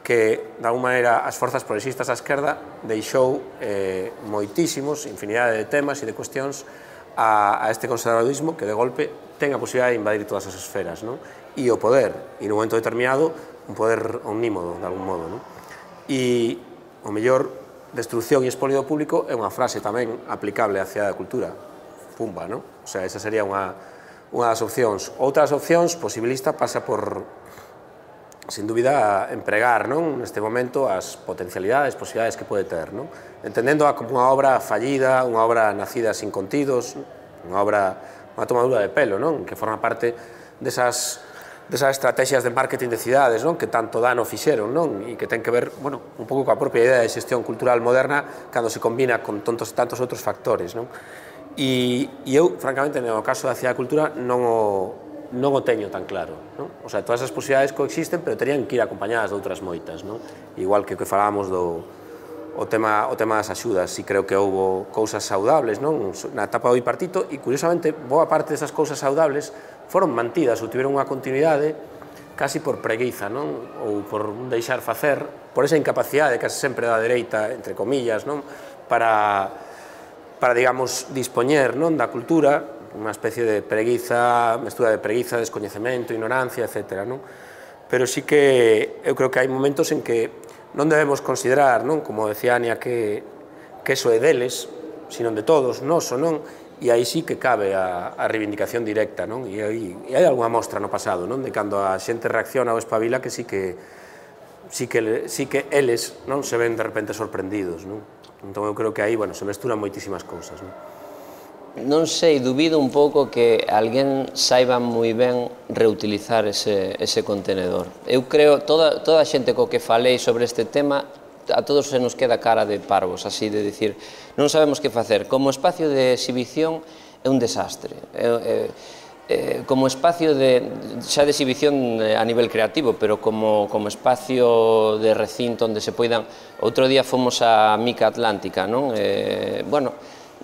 que, de alguma maneira, as forzas progresistas á esquerda deixou eh, moitísimos, infinidade de temas e de cuestións a, a este conservadurismo que, de golpe, ten a posibilidade de invadir todas as esferas, non? E o poder, e nun momento determinado, un poder omnímodo, de algún modo, non? E o mellor, destrucción e expolio do público é unha frase tamén aplicable á cidade da cultura. Pumba, non? O sea, esa sería unha, unha das opcións. Outras opcións, posibilista, pasa por, sin dúbida, empregar, non? Neste momento, as potencialidades, posibilidades que pode ter, non? Entendendo como unha obra fallida, unha obra nacida sin contidos, unha obra, unha tomadura de pelo, non? Que forma parte desas desas estrategias de marketing de cidades, non? Que tanto dano fixeron, non? E que ten que ver, bueno, un pouco coa propia idea de xestión cultural moderna cando se combina con tontos, tantos outros factores, non? E, e eu, francamente, no caso da cidade da cultura non o, non o teño tan claro, non? O sea, todas as posibilidades coexisten, pero terían que ir acompañadas de outras moitas, non? Igual que o que falábamos do o tema, o tema das axudas, e creo que houbo cousas saudables, non? Na etapa do bipartito, e curiosamente, boa parte desas cousas saudables foron mantidas ou tiveron unha continuidade casi por preguiza, non? Ou por deixar facer, por esa incapacidade casi sempre da dereita, entre comillas, non? Para, para digamos, dispoñer, non? Da cultura, unha especie de preguiza, mestura de preguiza, descoñecemento, ignorancia, etcétera, non? Pero sí que eu creo que hai momentos en que non debemos considerar, non? Como decía Ania, que, que eso é deles, sino de todos, noso, non? E aí sí que cabe a, a reivindicación directa, non? E aí e hai algunha mostra no pasado, non? De cando a xente reacciona ou espabila que sí que sí que, sí que eles, non? Se ven de repente sorprendidos, non? Entón eu creo que aí, bueno, se mesturan moitísimas cousas, non? Non sei, dubido un pouco que alguén saiba moi ben reutilizar ese, ese contenedor. Eu creo, toda, toda a xente co que falei sobre este tema, a todos se nos queda cara de parvos, así de dicir, non sabemos que facer. Como espacio de exhibición é un desastre. É, é, é, como espacio de, xa de exhibición a nivel creativo, pero como, como espacio de recinto onde se poidan... Outro día fomos a Mica Atlántica, non? Eh, bueno,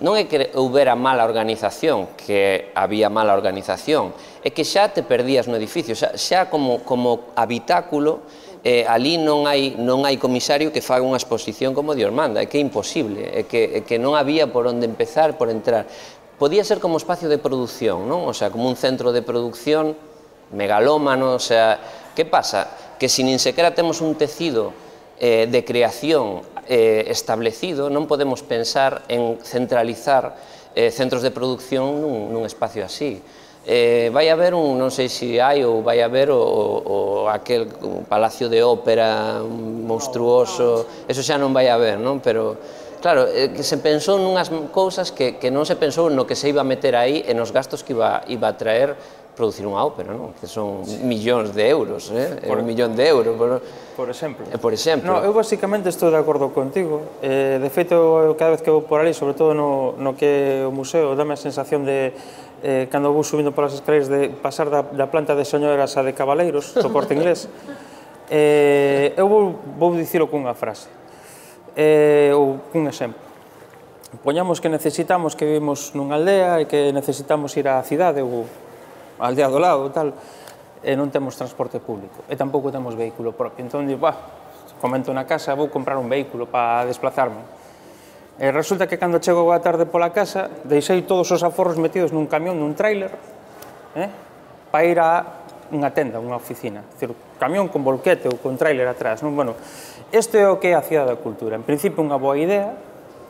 non é que houbera mala organización, que había mala organización, é que xa te perdías no edificio, xa, xa como, como habitáculo, eh, ali non hai, non hai comisario que faga unha exposición como Dios manda, é que é imposible, é que, é que non había por onde empezar, por entrar. Podía ser como espacio de produción, non? O sea, como un centro de producción megalómano, o sea, que pasa? Que se nin sequera temos un tecido eh, de creación eh, establecido, non podemos pensar en centralizar eh, centros de producción nun, nun espacio así. Eh, vai haber un, non sei se hai ou vai haber o, o, o aquel un palacio de ópera monstruoso, eso xa non vai haber, non? Pero, claro, eh, que se pensou nunhas cousas que, que non se pensou no que se iba a meter aí e nos gastos que iba, iba a traer producir unha ópera, non? Que son sí. millóns de euros, eh? Por, un millón de euros. Por, por exemplo. Eh, por exemplo. No, eu basicamente estou de acordo contigo. Eh, de feito, cada vez que vou por ali, sobre todo no, no que é o museo, dame a sensación de eh, cando vou subindo polas escaleras de pasar da, da planta de señoras a de cabaleiros, do Corte Inglés. Eh, eu vou, vou dicilo cunha frase, eh, ou cun exemplo. Poñamos que necesitamos que vivimos nunha aldea e que necesitamos ir á cidade ou á aldea do lado, tal, e non temos transporte público, e tampouco temos vehículo propio. Entón, digo, bah, comento na casa, vou comprar un vehículo para desplazarme. E resulta que cando chego a tarde pola casa, deixei todos os aforros metidos nun camión, nun tráiler, eh, para ir a unha tenda, unha oficina. Dicir, camión con volquete ou con tráiler atrás. Non? Bueno, isto é o que é a cidade da cultura. En principio, unha boa idea,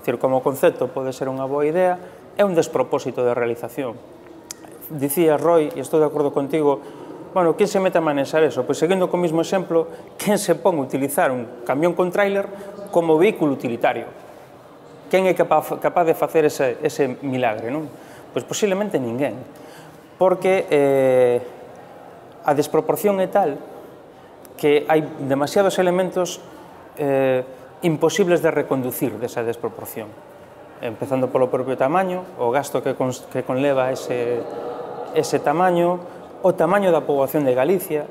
dicir, como concepto pode ser unha boa idea, é un despropósito de realización. Dicía Roy, e estou de acordo contigo, bueno, quen se mete a manexar eso? Pois, seguindo co mismo exemplo, quen se pon a utilizar un camión con tráiler como vehículo utilitario? Quen é capaz, capaz de facer ese, ese milagre, non? Pois posiblemente ninguén, porque eh, a desproporción é tal que hai demasiados elementos eh, imposibles de reconducir desa desproporción, empezando polo propio tamaño, o gasto que, con, que conleva ese, ese tamaño, o tamaño da poboación de Galicia.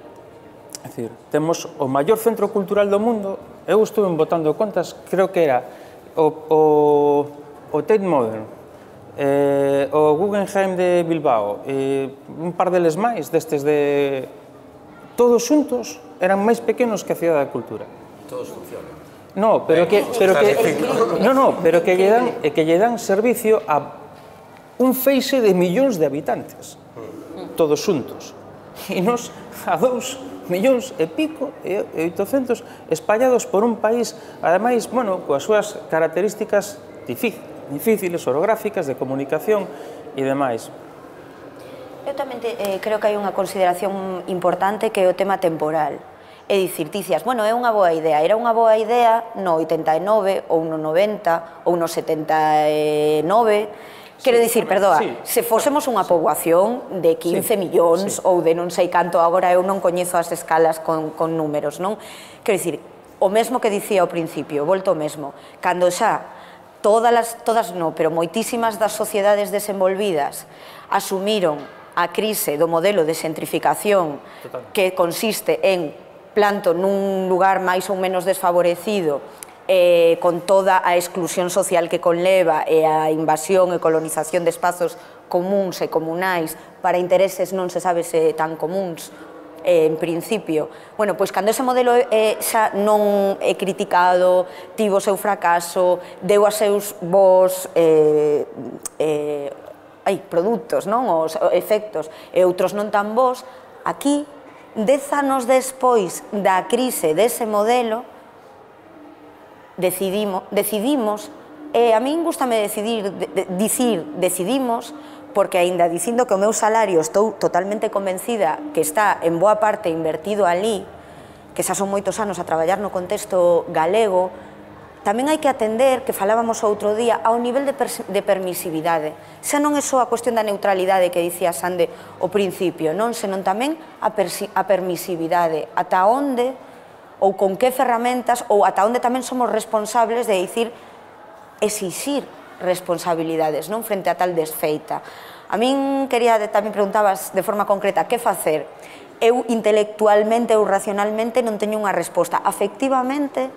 É dicir, temos o maior centro cultural do mundo, eu estuve botando contas, creo que era o, o, o Tate Modern, Eh, o Guggenheim de Bilbao, e un par deles máis, destes de... Todos xuntos eran máis pequenos que a Cidade da Cultura. Todos funcionan. No, pero que... Pero que no, no, pero que lle dan, que lle dan servicio a un feixe de millóns de habitantes. Todos xuntos. E nos a dous millóns e pico e oitocentos espallados por un país, ademais, bueno, coas súas características difíciles. difíciles, orográficas, de comunicación e demais. Eu tamén te, eh, creo que hai unha consideración importante que é o tema temporal. É dicir, dicías, bueno, é unha boa idea, era unha boa idea no oitenta e nove, ou no noventa, ou no setenta e nove, quero dicir, perdoa, se fósemos unha poboación de quince millóns ou de non sei canto, agora eu non coñezo as escalas con, con números, non? Quero dicir, o mesmo que dicía ao principio, volto ao mesmo, cando xa todas, las, todas no, pero moitísimas das sociedades desenvolvidas asumiron a crise do modelo de xentrificación que consiste en planto nun lugar máis ou menos desfavorecido eh, con toda a exclusión social que conleva e a invasión e colonización de espazos comuns e comunais para intereses non se sabe se tan comuns Eh, en principio. Bueno, pois cando ese modelo eh, xa non é criticado, tivo o seu fracaso, deu a seus vos eh, eh, ai, produtos, non? Os efectos, e outros non tan vos, aquí, dez anos despois da crise dese modelo, decidimos, decidimos e a min gustame decidir, de, de, dicir, decidimos, porque aínda dicindo que o meu salario estou totalmente convencida que está en boa parte invertido ali, que xa son moitos anos a traballar no contexto galego, tamén hai que atender, que falábamos outro día, ao nivel de, de permisividade. Xa non é só a cuestión da neutralidade que dicía Sande ao principio, non, senón tamén a, a permisividade, ata onde ou con que ferramentas ou ata onde tamén somos responsables de dicir, exixir responsabilidades, non, frente a tal desfeita. A min quería, tamén preguntabas de forma concreta, que facer? Eu intelectualmente ou racionalmente non teño unha resposta. Afectivamente,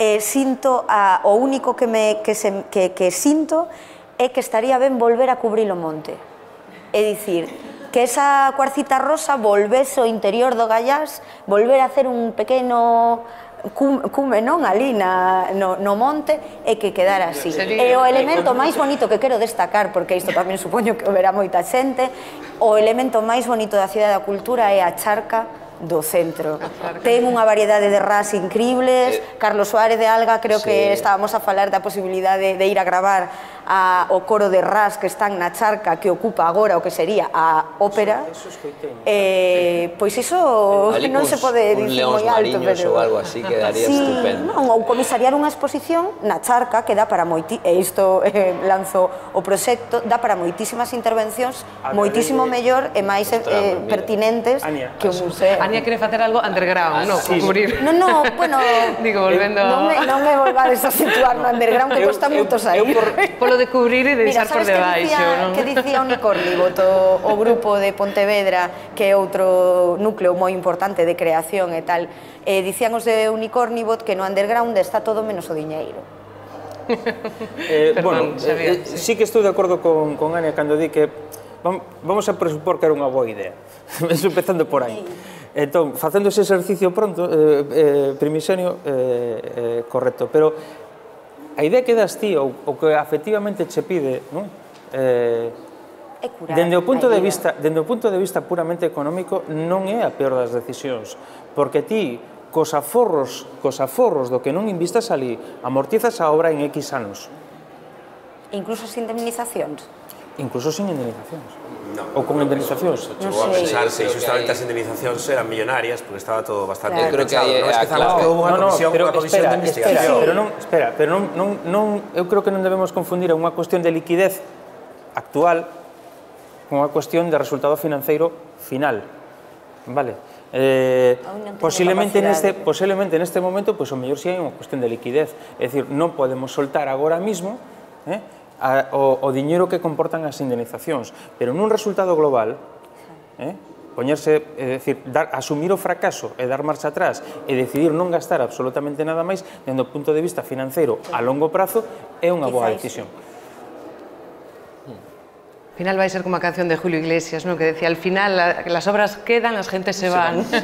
eh, sinto, a, o único que, me, que, se, que, que sinto é que estaría ben volver a cubrir o monte. É dicir, que esa cuarcita rosa volvese ao interior do Gallás, volver a hacer un pequeno cume, non, ali no, no monte, e que quedara así. E o elemento máis bonito que quero destacar, porque isto tamén supoño que verá moita xente, o elemento máis bonito da Cidade da Cultura é a charca do centro. Ten unha variedade de ras increíbles. Carlos Suárez de Alga, creo que estábamos a falar da posibilidade de ir a gravar a, o coro de ras que están na charca que ocupa agora o que sería a ópera. Eh, pois iso non se pode dicir moi alto, pero... ou algo así quedaría sí, estupendo. Non, ou comisariar unha exposición na charca que dá para moiti... E isto eh, lanzo o proxecto, dá para moitísimas intervencións, moitísimo mellor e máis eh, pertinentes que o museo. Ania quere facer algo underground, non? Cubrir. Non, non, bueno... Digo, volvendo... Non me, non me volvades a situar no underground, que costa moito sair. Polo de cubrir e deixar por debaixo, non? Que dicía o Unicornibot, o grupo de Pontevedra, que é outro núcleo moi importante de creación e tal, eh, dicían os de Unicornibot que no underground está todo menos o diñeiro. eh, bueno, eh, sí que estou de acordo con, con Ania cando di que vamos a presupor que era unha boa idea. Empezando por aí. Entón, facendo ese exercicio pronto, eh, eh, primisenio, eh, eh, correcto, pero a idea que das ti, ou, ou que efectivamente che pide, non? Eh, dende o punto de vista, dende o punto de vista puramente económico, non é a peor das decisións, porque ti, cos aforros, cos aforros do que non invistas ali, amortizas a obra en X anos. Incluso as indemnizacións? incluso sin indemnizacións. No, ou con indemnizacións. Chegou a pensarse, e justamente as indemnizacións eran millonarias, porque estaba todo bastante Claro. pensado. Creo que Non es que claro. houve unha comisión, pero unha comisión espera, de investigación. espera, pero non, espera, pero non, non, non, eu creo que non debemos confundir unha cuestión de liquidez actual con unha cuestión de resultado financeiro final. Vale? Eh, posiblemente neste posiblemente neste momento pois o mellor si hai unha cuestión de liquidez, é dicir, non podemos soltar agora mismo, eh, a, o, o diñeiro que comportan as indemnizacións, pero nun resultado global, eh, poñerse, é dicir, dar, asumir o fracaso e dar marcha atrás e decidir non gastar absolutamente nada máis, dende o punto de vista financeiro a longo prazo, é unha boa decisión. Al final vai ser como a canción de Julio Iglesias, ¿no? Que decía, al final la, las obras quedan, las gentes se van. Sí.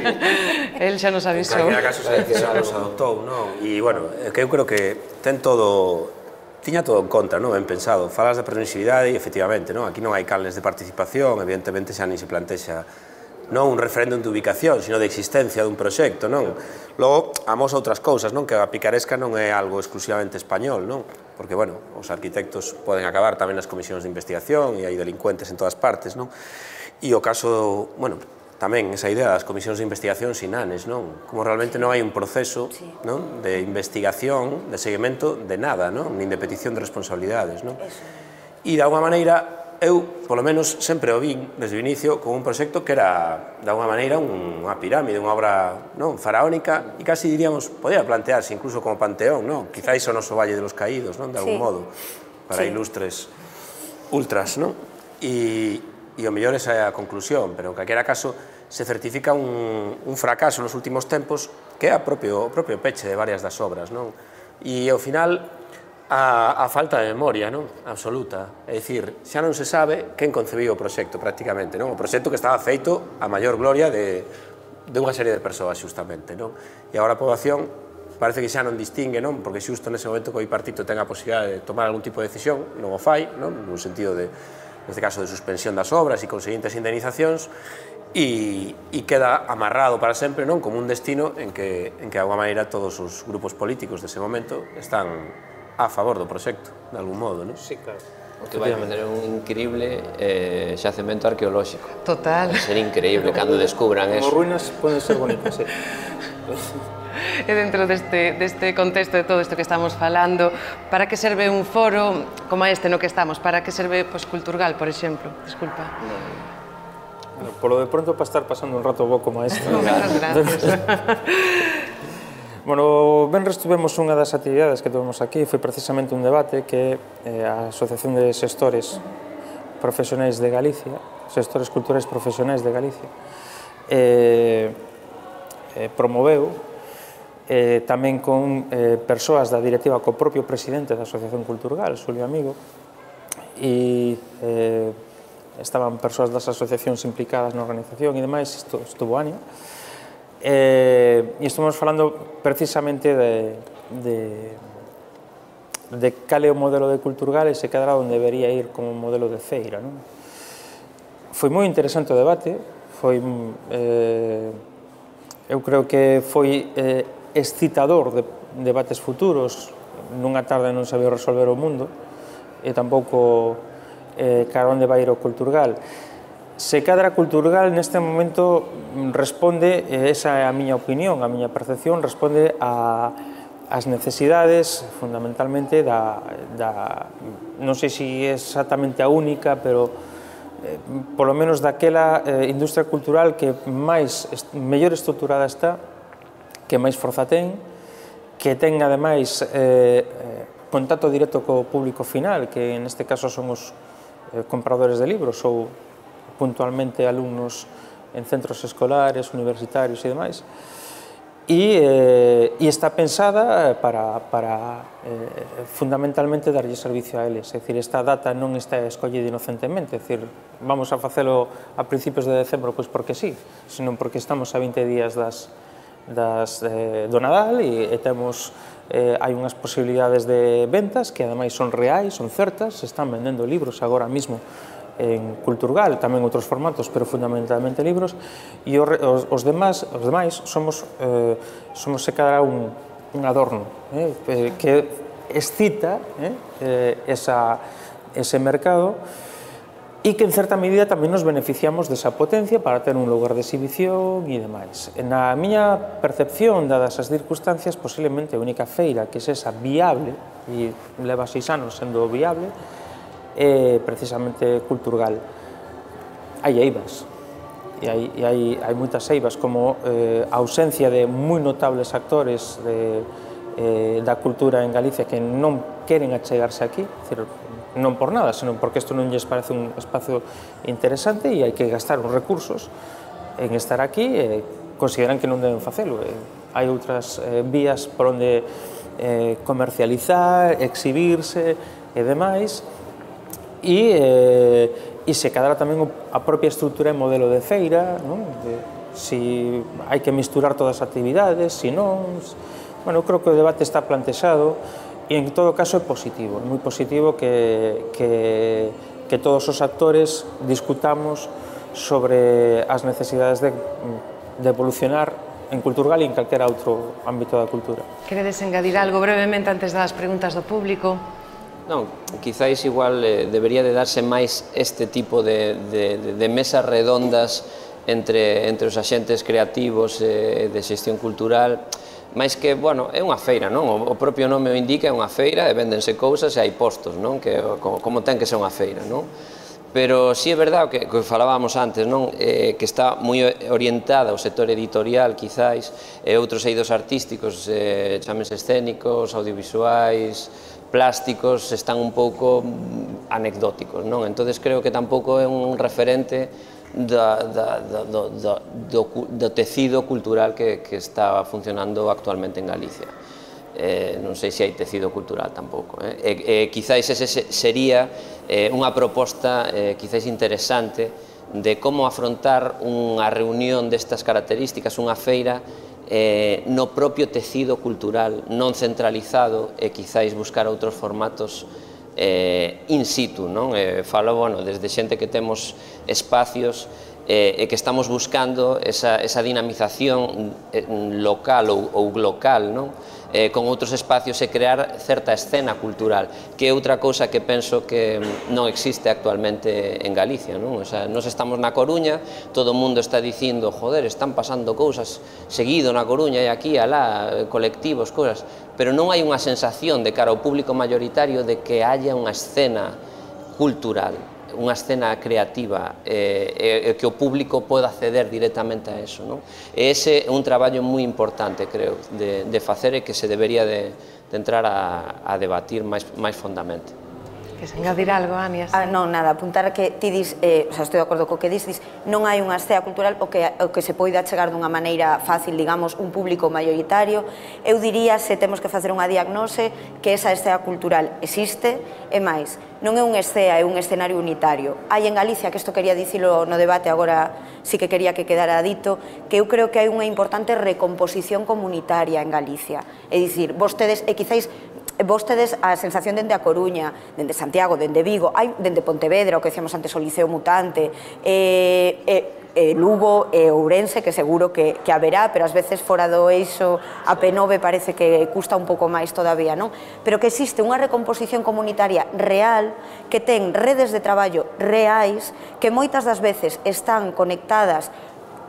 Él xa nos avisou. En calquera caso, se nos adoptou, non? E, bueno, que eu creo que ten todo... Tiña todo en contra, non? Ben pensado. Falas da permisividade e, efectivamente, non? Aquí non hai canles de participación, evidentemente xa nin se plantexa non un referéndum de ubicación, sino de existencia dun proxecto, non? Logo, amos outras cousas, non? Que a picaresca non é algo exclusivamente español, non? Porque, bueno, os arquitectos poden acabar tamén nas comisións de investigación e hai delincuentes en todas partes, non? E o caso, bueno, tamén esa idea das comisións de investigación sinanes, non? Como realmente non hai un proceso, non? De investigación, de seguimento de nada, non? Nin de petición de responsabilidades, non? E, de alguma maneira, eu, polo menos, sempre o vin desde o inicio como un proxecto que era, de alguma maneira, unha pirámide, unha obra non faraónica, e casi diríamos, podía plantearse incluso como panteón, non? Quizáis o noso Valle de los Caídos, non? De algún modo, para ilustres ultras, non? E, e o mellor esa é a conclusión, pero en calquera caso se certifica un, un fracaso nos últimos tempos que é a propio, o propio peche de varias das obras, non? E ao final a, a falta de memoria, non? Absoluta. É dicir, xa non se sabe quen concebiu o proxecto prácticamente, non? O proxecto que estaba feito a maior gloria de, de unha serie de persoas, xustamente, non? E agora a poboación parece que xa non distingue, non? Porque xusto nese momento que o bipartito ten a posibilidade de tomar algún tipo de decisión, non o fai, non? Nun sentido de, neste caso, de suspensión das obras e conseguintes indemnizacións, e, e queda amarrado para sempre, non? Como un destino en que, en que, de alguma maneira, todos os grupos políticos dese momento están a favor do proxecto, de algún modo, non? Sí, claro. O que vai facer un increíble eh, xacemento arqueolóxico. Total. Vai ser increíble cando descubran eso. Como ruínas poden ser bonitas, sí. E dentro deste, deste contexto de todo isto que estamos falando, para que serve un foro como este no que estamos? Para que serve, pois, Culturgal, por exemplo? Disculpa. Bueno, polo de pronto, para estar pasando un rato bo como este. Moitas gracias. Bueno, ben tuvemos unha das actividades que tuvemos aquí, foi precisamente un debate que eh, a Asociación de Xestores Profesionais de Galicia, Xestores Culturais Profesionais de Galicia, eh, eh, promoveu eh, tamén con eh, persoas da directiva co propio presidente da Asociación Culturgal, Xulio Amigo, e eh, estaban persoas das asociacións implicadas na organización e demais, isto estuvo Ania. Eh, e estamos falando precisamente de, de, de cal é o modelo de Culturgal e se quedará onde debería ir como modelo de feira, non? Foi moi interesante o debate, foi, eh, eu creo que foi eh, excitador de debates futuros, nunha tarde non sabía resolver o mundo e tampouco eh, cara onde vai ir o Culturgal. Se cadra Culturgal neste momento responde, esa é a miña opinión, a miña percepción, responde a, as necesidades fundamentalmente da, da non sei se é exactamente a única, pero eh, polo menos daquela eh, industria cultural que máis mellor estruturada está, que máis forza ten, que ten ademais eh, contacto directo co público final, que neste caso son os eh, compradores de libros ou puntualmente alumnos en centros escolares, universitarios e demais, e, eh, e está pensada para, para eh, fundamentalmente darlle servicio a eles, é dicir, esta data non está escollida inocentemente, é dicir, vamos a facelo a principios de decembro, pois porque sí, senón porque estamos a vinte días das, das, eh, do Nadal e, e temos, eh, hai unhas posibilidades de ventas que ademais son reais, son certas, se están vendendo libros agora mismo en Culturgal, tamén outros formatos, pero fundamentalmente libros, e os, os demais, os demais somos, eh, somos se cadra un, un adorno, eh, que excita eh, esa, ese mercado, e que en certa medida tamén nos beneficiamos desa potencia para ter un lugar de exhibición e demais. Na miña percepción, dadas as circunstancias, posiblemente a única feira que sexa viable, e leva seis anos sendo viable, é precisamente Culturgal. Hai eivas, e hai, e hai, hai moitas eivas, como eh, a ausencia de moi notables actores de, eh, da cultura en Galicia que non queren achegarse aquí, decir, non por nada, senón porque isto non lles parece un espacio interesante e hai que gastar os recursos en estar aquí e consideran que non deben facelo. Hai outras eh, vías por onde eh, comercializar, exhibirse e demais, e, eh, e se cadra tamén a propia estrutura e modelo de feira, non? De, si hai que misturar todas as actividades, si non... Bueno, creo que o debate está plantexado. E, en todo caso, é positivo, é moi positivo que, que, que todos os actores discutamos sobre as necesidades de, de evolucionar en Culturgal e en calquera outro ámbito da cultura. Queredes engadir algo brevemente antes das preguntas do público? Non, quizáis igual eh, debería de darse máis este tipo de, de, de mesas redondas entre, entre os axentes creativos eh, de xestión cultural, máis que, bueno, é unha feira, non? O propio nome o indica, é unha feira e véndense cousas e hai postos, non? Que, como, como ten que ser unha feira, non? Pero si é verdade que, que falábamos antes, non? Eh, que está moi orientada ao sector editorial, quizáis, e outros eidos artísticos, eh, chámense escénicos, audiovisuais, plásticos, están un pouco anecdóticos, non? Entonces creo que tampouco é un referente Da, da, da, do, do, do tecido cultural que, que está funcionando actualmente en Galicia. Eh, non sei se hai tecido cultural tampouco. Eh. E, e quizáis ese sería eh, unha proposta eh, quizáis interesante de como afrontar unha reunión destas características, unha feira eh, no propio tecido cultural, non centralizado, e quizáis buscar outros formatos Eh, in situ, non? Eh, falo, bueno, desde xente que temos espacios eh, e que estamos buscando esa, esa dinamización local ou, ou local, non? Eh, con outros espacios e crear certa escena cultural, que é outra cousa que penso que non existe actualmente en Galicia, non? O sea, nos estamos na Coruña, todo o mundo está dicindo, joder, están pasando cousas seguido na Coruña e aquí, alá, colectivos, cousas, pero non hai unha sensación de cara ao público mayoritario de que haya unha escena cultural, unha escena creativa, e, e que o público poda acceder directamente a eso, non? E ese é un traballo moi importante, creo, de, de facer e que se debería de, de entrar a, a debatir máis, máis fondamente. Queres engadir algo, Ania? Ah, non, nada, apuntar que ti dis, eh, o sea, estou de acordo co que dis, dis, non hai unha escena cultural o que, o que se poida chegar dunha maneira fácil, digamos, un público maioritario. Eu diría, se temos que facer unha diagnose, que esa escena cultural existe, e máis, non é un escena, é un escenario unitario. Hai en Galicia, que isto quería dicilo no debate, agora sí que quería que quedara dito, que eu creo que hai unha importante recomposición comunitaria en Galicia. É dicir, vostedes, e quizáis, vos tedes a sensación dende a Coruña, dende Santiago, dende Vigo, hai dende Pontevedra, o que decíamos antes, o Liceo Mutante, e, e, e Lugo e Ourense, que seguro que, que haberá, pero ás veces fora do eixo a P nove parece que custa un pouco máis todavía, non? Pero que existe unha recomposición comunitaria real, que ten redes de traballo reais, que moitas das veces están conectadas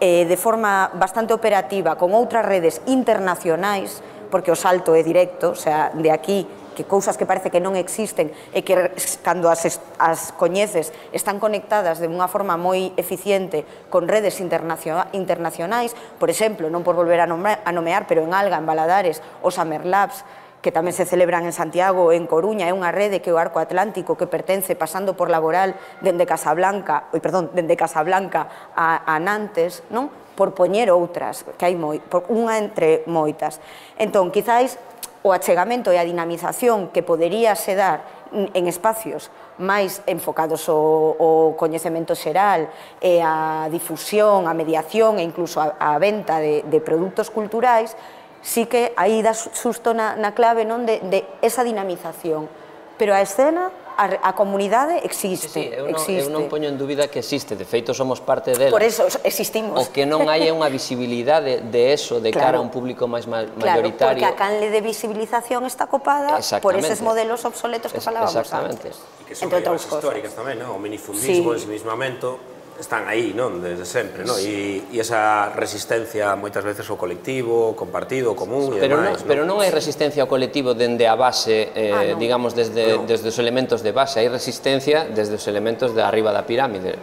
eh, de forma bastante operativa con outras redes internacionais, porque o salto é directo, o sea, de aquí, que cousas que parece que non existen e que cando as, as coñeces están conectadas de unha forma moi eficiente con redes internacionais, por exemplo, non por volver a nomear, pero en Alga, en Valadares, os Summer Labs, que tamén se celebran en Santiago, en Coruña, é unha rede que é o Arco Atlántico, que pertence, pasando por Laboral, dende Casablanca, oi, perdón, dende Casablanca a, a Nantes, non? Por poñer outras, que hai moi, por unha entre moitas. Entón, quizáis, o achegamento e a dinamización que podería se dar en espacios máis enfocados ao, ao coñecemento xeral e a difusión, a mediación e incluso a, a venta de, de produtos culturais, sí que aí dá susto na, na clave, non, de, de esa dinamización. Pero a escena, a comunidade existe. Sí, sí, eu, non, eu non poño en dúbida que existe, de feito somos parte dela. Por eso existimos. O que non hai unha visibilidade de eso de cara a un público máis mayoritario. Claro, porque a canle de visibilización está copada por eses modelos obsoletos que falábamos antes. E que son máis históricas tamén, o minifundismo, o ensimismamento, están aí, non, desde sempre, non? E esa resistencia moitas veces ao colectivo, compartido, común e demais. Pero non hai resistencia ao colectivo dende a base, digamos, desde os elementos de base, hai resistencia desde os elementos de arriba da pirámide,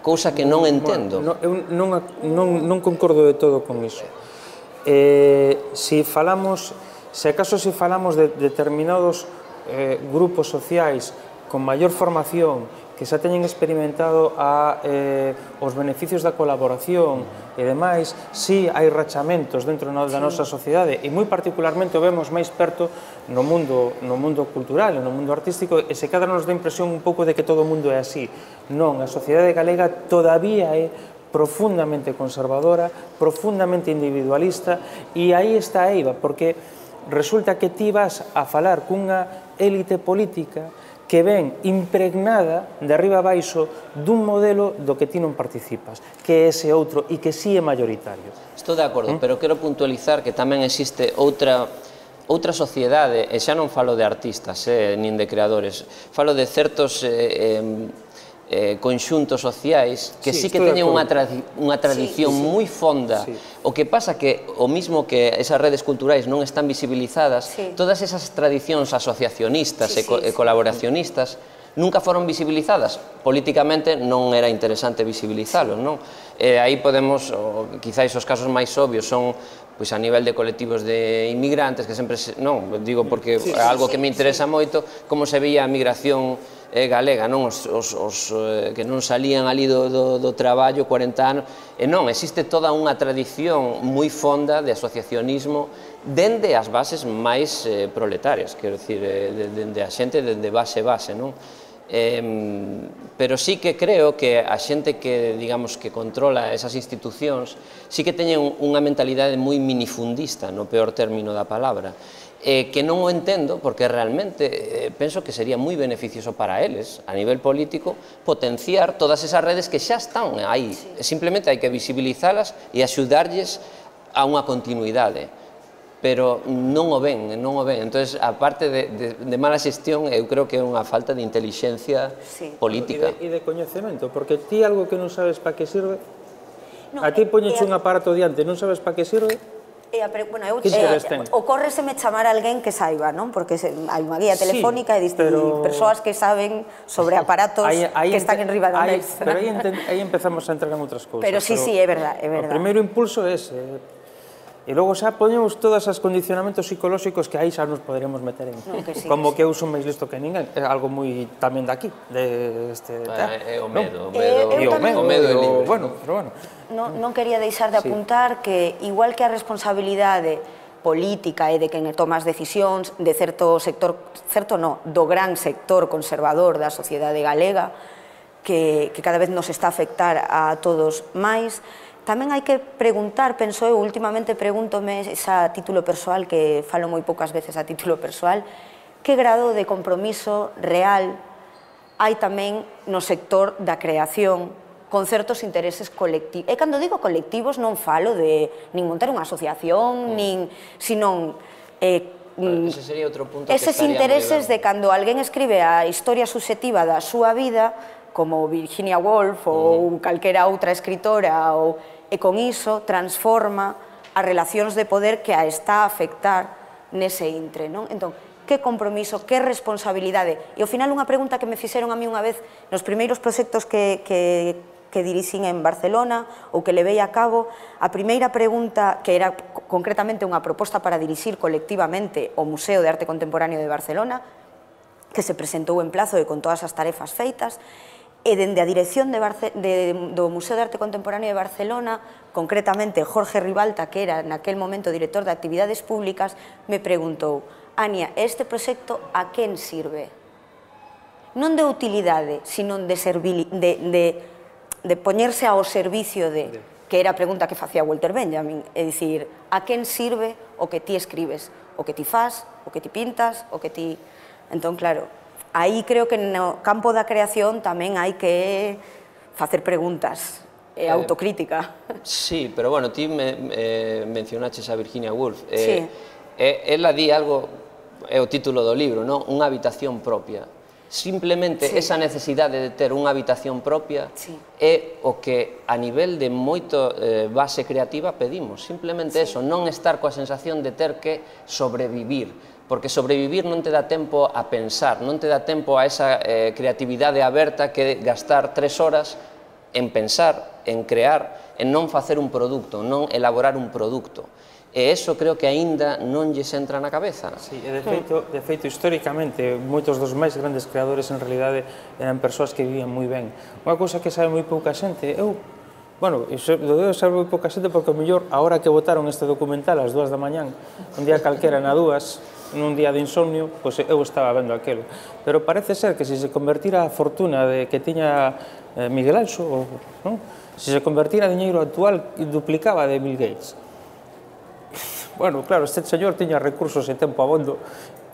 cousa que non entendo. Eu non concordo de todo con iso. Se falamos, se acaso se falamos de determinados grupos sociais con maior formación que xa teñen experimentado os beneficios da colaboración e demais, si hai rachamentos dentro da nosa sociedade e moi particularmente o vemos máis perto no mundo cultural e no mundo artístico e se cadra nos dá impresión un pouco de que todo o mundo é así. Non, a sociedade galega todavía é profundamente conservadora, profundamente individualista e aí está a eiva, porque resulta que ti vas a falar cunha élite política que ven impregnada de arriba a baixo dun modelo do que ti non participas, que é ese outro e que sí é mayoritario. Estou de acordo, pero quero puntualizar que tamén existe outra outra sociedade, e xa non falo de artistas, nin de creadores, falo de certos conxuntos sociais que sí que teñen unha tradición moi fonda. O que pasa que, o mismo que esas redes culturais non están visibilizadas, todas esas tradicións asociacionistas e colaboracionistas nunca foron visibilizadas. Políticamente non era interesante visibilizalos, non? Aí podemos, quizáis os casos máis obvios son pois a nivel de colectivos de inmigrantes, que sempre, non, digo porque é algo que me interesa moito, como se veía a migración galega, non, os que non salían ali do traballo corenta anos, e non, existe toda unha tradición moi fonda de asociacionismo dende as bases máis proletarias, quero dicir, dende a xente dende base base, non? Pero sí que creo que a xente que, digamos, que controla esas institucións sí que teñen unha mentalidade moi minifundista, no peor término da palabra, que non o entendo porque realmente penso que sería moi beneficioso para eles, a nivel político, potenciar todas esas redes que xa están aí. Simplemente hai que visibilizalas e axudarlles a unha continuidade. Pero non o ven, non o ven. Entón, aparte de mala xestión, eu creo que é unha falta de inteligencia política. E de coñecemento, porque ti algo que non sabes para que sirve, a ti poñeche un aparato diante, non sabes para que sirve, ocórreseme chamar a alguén que saiba, non? Porque hai unha guía telefónica e persoas que saben sobre aparatos que están en riba da mesa. Pero aí empezamos a entrar en outras cousas. Pero sí, sí, é verdad, é verdad. O primeiro impulso é ese. E logo xa poñemos todos os condicionamentos psicolóxicos que aí xa nos poderíamos meter en. Como que eu son máis listo que ninguén. É algo moi tamén daqui. É o medo. O medo é libre. Bueno, pero bueno. Non quería deixar de apuntar que, igual que a responsabilidade política e de quen toma as decisións de certo sector, certo non, do gran sector conservador da sociedade galega, que cada vez nos está a afectar a todos máis, tamén hai que preguntar, penso eu, últimamente pregúntome a título persoal, que falo moi poucas veces a título persoal, que grado de compromiso real hai tamén no sector da creación con certos intereses colectivos. E cando digo colectivos non falo de nin montar unha asociación, nin, senón ese sería outro punto que eses intereses de cando alguén escribe a historia subxectiva da súa vida, como Virginia Woolf ou calquera outra escritora, e con iso transforma as relacións de poder que a está a afectar nese intre, non? Entón, que compromiso, que responsabilidade. E ao final unha pregunta que me fixeron a mí unha vez nos primeiros proxectos que que dirixín en Barcelona ou que levei a cabo, a primeira pregunta, que era concretamente unha proposta para dirixir colectivamente o Museo de Arte Contemporáneo de Barcelona, que se presentou en plazo e con todas as tarefas feitas, e dende a dirección do Museo de Arte Contemporáneo de Barcelona, concretamente Jorge Ribalta, que era naquel momento director de Actividades Públicas, me preguntou: Ania, este proxecto a quen sirve? Non de utilidade, sino de de poñerse ao servicio de, que era a pregunta que facía Walter Benjamin, é dicir, a quen sirve o que ti escribes, o que ti faz, o que ti pintas, o que ti... Entón, claro, Aí creo que no campo da creación tamén hai que facer preguntas e eh, autocrítica. Sí, pero bueno, ti me, eh, mencionaches a Virginia Woolf. Eh, sí. Eh, ela di algo, é o título do libro, non? Unha habitación propia. Simplemente sí. esa necesidade de ter unha habitación propia sí. é o que a nivel de moito eh, base creativa pedimos. Simplemente sí. eso, non estar coa sensación de ter que sobrevivir. Porque sobrevivir non te dá tempo a pensar, non te dá tempo a esa eh, creatividade aberta que gastar tres horas en pensar, en crear, en non facer un produto, non elaborar un produto. E eso creo que aínda non lles entra na cabeza. Sí, e de feito, de feito, históricamente, moitos dos máis grandes creadores en realidade eran persoas que vivían moi ben. Unha cousa que sabe moi pouca xente, eu, bueno, lo debo saber moi pouca xente porque, ao mellor, a hora que votaron este documental ás dúas da mañán, un día calquera na dúas, nun día de insomnio, pois eu estaba vendo aquelo. Pero parece ser que se se convertira a fortuna de que tiña eh, Miguel Anxo, non? Se se convertira a diñeiro actual, duplicaba de Bill Gates. Bueno, claro, este señor tiña recursos e tempo abondo,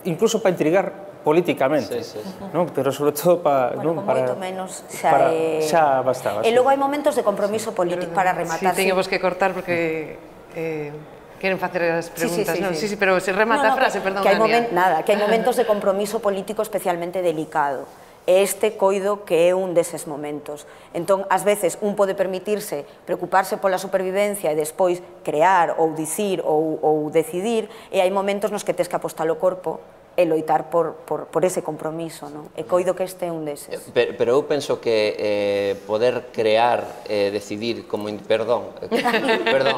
incluso para intrigar políticamente, sí, sí, sí. ¿no? Pero sobre todo para... Bueno, ¿no? con para, moito menos xa, para, eh... xa bastaba. E sí. logo hai momentos de compromiso político para rematar. Sí, teñemos que cortar porque... Eh... Queren facer as preguntas, sí, sí, sí, non? sí. Sí, sí, pero se remata no, no, a frase, perdón, que hai Ania. Nada, que hai momentos de compromiso político especialmente delicado. E este coido que é un deses momentos. Entón, ás veces, un pode permitirse preocuparse pola supervivencia e despois crear ou dicir ou, ou decidir, e hai momentos nos que tes que apostar o corpo e loitar por, por, por ese compromiso, non? E coido que este é un deses. Pero, pero eu penso que eh, poder crear, eh, decidir, como... In, perdón, eh, perdón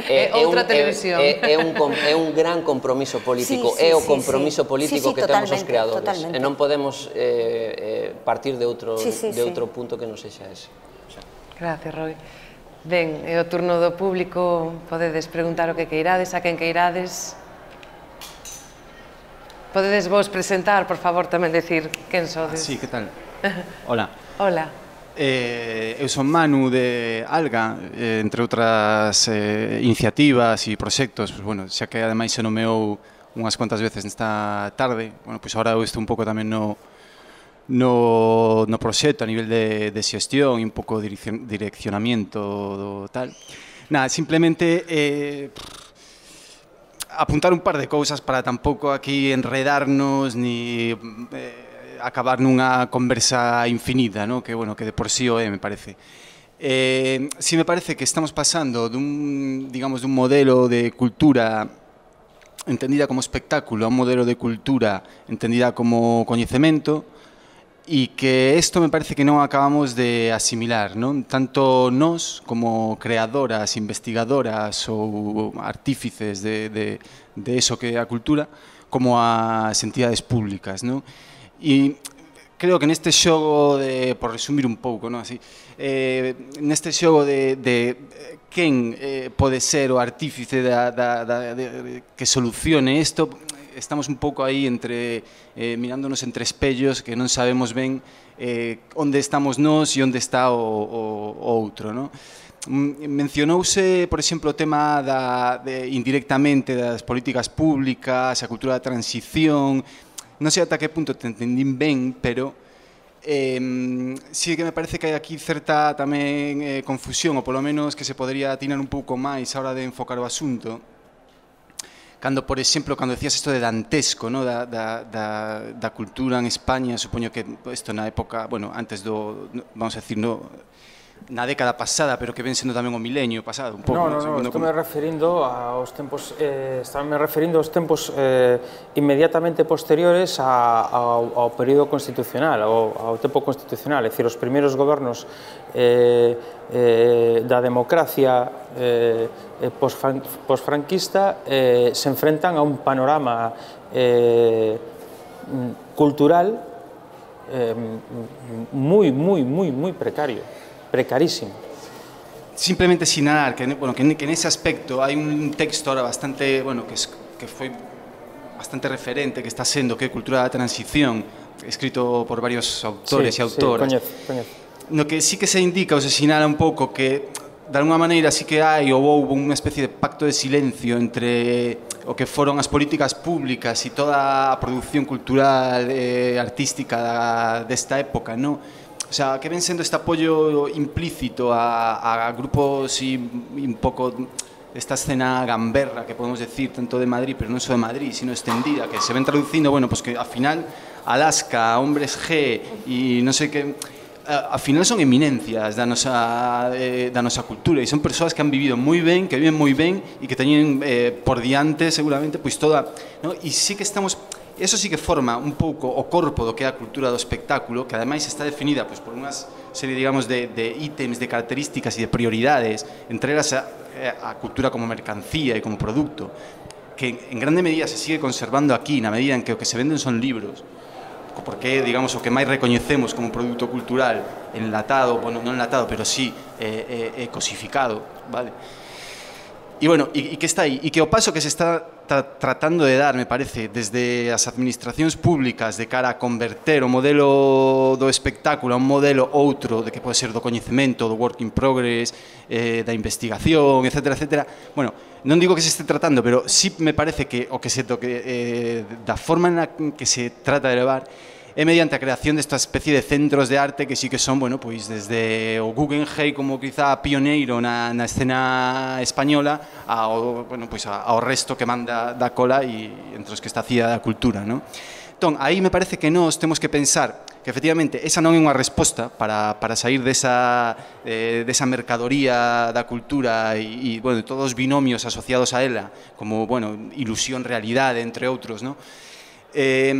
é, é outra un, televisión. É, é, un, é un gran compromiso político, sí, sí, é o compromiso sí, político sí, sí, que temos os creadores. Totalmente. E non podemos eh, eh, partir de outro, sí, sí, de outro sí. punto que non sexa ese. O sea. Gracias, Roy. Ben, é o turno do público, podedes preguntar o que queirades, a quen queirades. Podedes vos presentar, por favor, tamén decir quen sodes. Sí, que tal? Hola. Hola. Eh, eu son Manu de Alga, eh, entre outras eh, iniciativas e proxectos, pues, bueno, xa que ademais se nomeou unhas cuantas veces nesta tarde, bueno, pois pues agora eu estou un pouco tamén no, no, no proxecto a nivel de, de xestión e un pouco de direccionamiento do tal. Nada, simplemente... Eh, apuntar un par de cousas para tampouco aquí enredarnos ni eh, acabar nunha conversa infinita, ¿no? Que, bueno, que de por sí o é, me parece. Eh, sí me parece que estamos pasando dun, digamos, dun modelo de cultura entendida como espectáculo a un modelo de cultura entendida como coñecemento e que isto me parece que non acabamos de asimilar, non? Tanto nós como creadoras, investigadoras ou artífices de, de, de eso que é a cultura, como as entidades públicas, non? E creo que neste xogo de, por resumir un pouco, non? Así, eh, neste xogo de, de quen eh, pode ser o artífice da, da, da, de, de, que solucione isto, estamos un pouco aí entre eh, mirándonos entre espellos que non sabemos ben eh, onde estamos nós e onde está o, o, o outro, non? Mencionouse, por exemplo, o tema da, de, indirectamente das políticas públicas, a cultura da transición, non sei ata que punto te entendín ben, pero eh, sí que me parece que hai aquí certa tamén eh, confusión, ou polo menos que se podría atinar un pouco máis a hora de enfocar o asunto. Cando, por exemplo, cando decías isto de dantesco, no? da, da, da, da cultura en España, supoño que isto na época, bueno, antes do, vamos a decir, no, na década pasada, pero que ven sendo tamén o milenio pasado, un pouco. No, no, no, no estou me referindo aos tempos, eh, estaba me referindo aos tempos eh, inmediatamente posteriores a, ao, ao período constitucional, ao, ao tempo constitucional, é dicir, os primeiros gobernos eh, eh, da democracia eh, posfranquista eh, se enfrentan a un panorama eh, cultural eh, moi, moi, moi, moi precario, precarísimo. Simplemente sinalar que, bueno, que, que nese aspecto hai un texto ahora bastante, bueno, que, es, que foi bastante referente, que está sendo, que é Cultura da Transición, escrito por varios autores sí, e autoras. Sí, coñezo, coñezo. No que sí que se indica ou se sinala un pouco que de alguma maneira sí que hai ou houve unha especie de pacto de silencio entre o que foron as políticas públicas e toda a produción cultural e artística desta época, non? O sea, que ven sendo este apoio implícito a, a grupos e un pouco esta escena gamberra, que podemos decir, tanto de Madrid, pero non só de Madrid, sino extendida, que se ven traducindo, bueno, pues que ao final Alaska, Hombres G e non sei que, ao final son eminencias da nosa, eh, da nosa cultura e son persoas que han vivido moi ben, que viven moi ben e que teñen eh, por diante seguramente pois toda, no? E sí que estamos, eso sí que forma un pouco o corpo do que é a cultura do espectáculo, que ademais está definida pois, por unhas serie, digamos, de, de ítems, de características e de prioridades, entre elas a, a cultura como mercancía e como producto, que en grande medida se sigue conservando aquí, na medida en que o que se venden son libros, porque, digamos, o que máis recoñecemos como produto cultural enlatado, bueno, non enlatado, pero sí eh, eh, cosificado, vale? E, bueno, e, e que está aí, e que o paso que se está tra tratando de dar, me parece, desde as administracións públicas de cara a converter o modelo do espectáculo a un modelo outro, de que pode ser do coñecemento, do work in progress, eh, da investigación, etcétera, etcétera, bueno, non digo que se este tratando, pero sí me parece que o que se toque, eh, da forma na que se trata de levar é mediante a creación desta especie de centros de arte que sí que son, bueno, pois desde o Guggenheim como quizá pioneiro na, na escena española ao, bueno, pois ao resto que manda da cola e entre os que está cía da cultura, non? Entón, aí me parece que nós temos que pensar que efectivamente esa non é unha resposta para, para sair desa, eh, desa mercadoría da cultura e, e bueno, todos os binomios asociados a ela, como, bueno, ilusión, realidade, entre outros, non? Eh,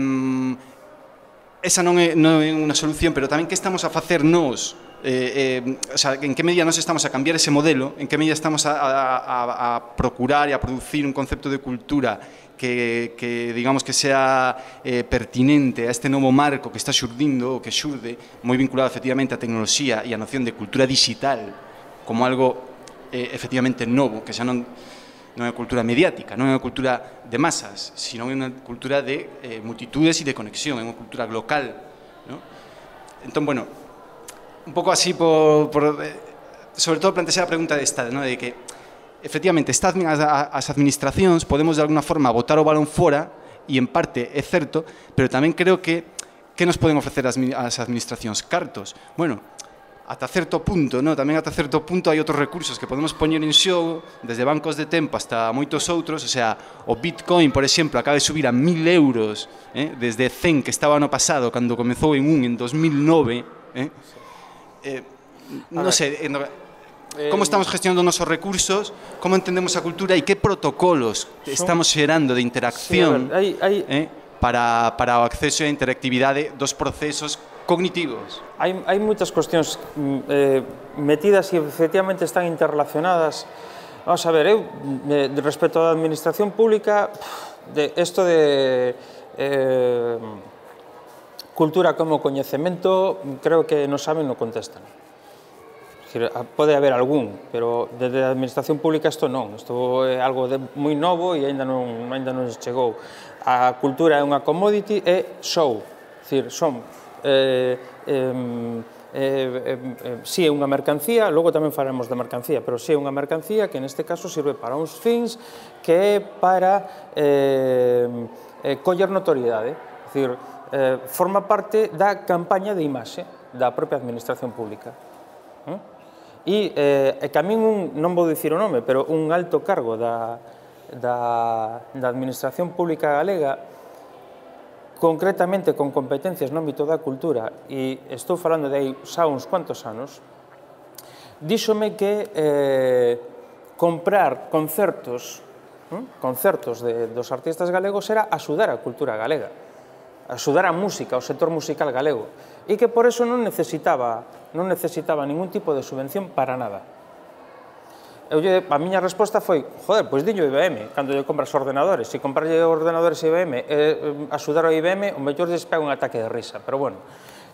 esa non é, non é unha solución, pero tamén que estamos a facer nós, eh, eh, o sea, en que medida nós estamos a cambiar ese modelo, en que medida estamos a, a, a procurar e a producir un concepto de cultura que, que digamos que sea eh, pertinente a este novo marco que está xurdindo, ou que xurde, moi vinculado efectivamente á tecnoloxía e á noción de cultura digital como algo eh, efectivamente novo, que xa non non é cultura mediática, non é unha cultura de masas, sino é unha cultura de eh, multitudes e de conexión, é unha cultura local, ¿no? Entón, bueno, un pouco así, por, por, eh, sobre todo plantear a pregunta desta, ¿no? De que, efectivamente, estas, as administracións podemos de alguna forma botar o balón fora, e en parte é certo, pero tamén creo que que nos poden ofrecer as, as administracións? Cartos. Bueno, ata certo punto, no? Tamén ata certo punto hai outros recursos que podemos poñer en xogo, desde bancos de tempo hasta moitos outros, o sea, o Bitcoin, por exemplo, acaba de subir a mil euros, eh? Desde cen que estaba ano pasado, cando comezou en un en dos mil nove, eh? Eh, non sei, eh, como estamos gestionando os nosos recursos, como entendemos a cultura e que protocolos estamos xerando de interacción, sí, hai, hai... Eh? para, para o acceso e a interactividade dos procesos cognitivos. Hai, hai moitas cuestións eh, metidas e efectivamente están interrelacionadas. Vamos a ver, eu, de, de respecto á administración pública, de esto de eh, cultura como coñecemento, creo que non saben, non contestan. Pode haber algún, pero desde a administración pública isto non. Isto é algo de moi novo e ainda non, ainda non chegou. A cultura é unha commodity e show. É dicir, son Eh, eh, eh, eh, si é unha mercancía, logo tamén faremos da mercancía, pero si é unha mercancía que neste caso sirve para uns fins que é para eh, eh, coller notoriedade, é dicir, eh, forma parte da campaña de imaxe da propia administración pública. E eh, que a min, un, non vou dicir o nome, pero un alto cargo da, da, da administración pública galega, concretamente con competencias no ámbito da cultura, e estou falando de aí xa uns cuantos anos, díxome que eh, comprar concertos, hm? concertos de, dos artistas galegos era axudar a cultura galega, axudar a música, o sector musical galego, e que por eso non necesitaba, non necesitaba ningún tipo de subvención para nada. Eu, a miña resposta foi, joder, pois diño I B M, cando lle compras ordenadores. Se comprarlle ordenadores I B M e eh, axudar ao I B M, o mellor lles pega un ataque de risa, pero bueno.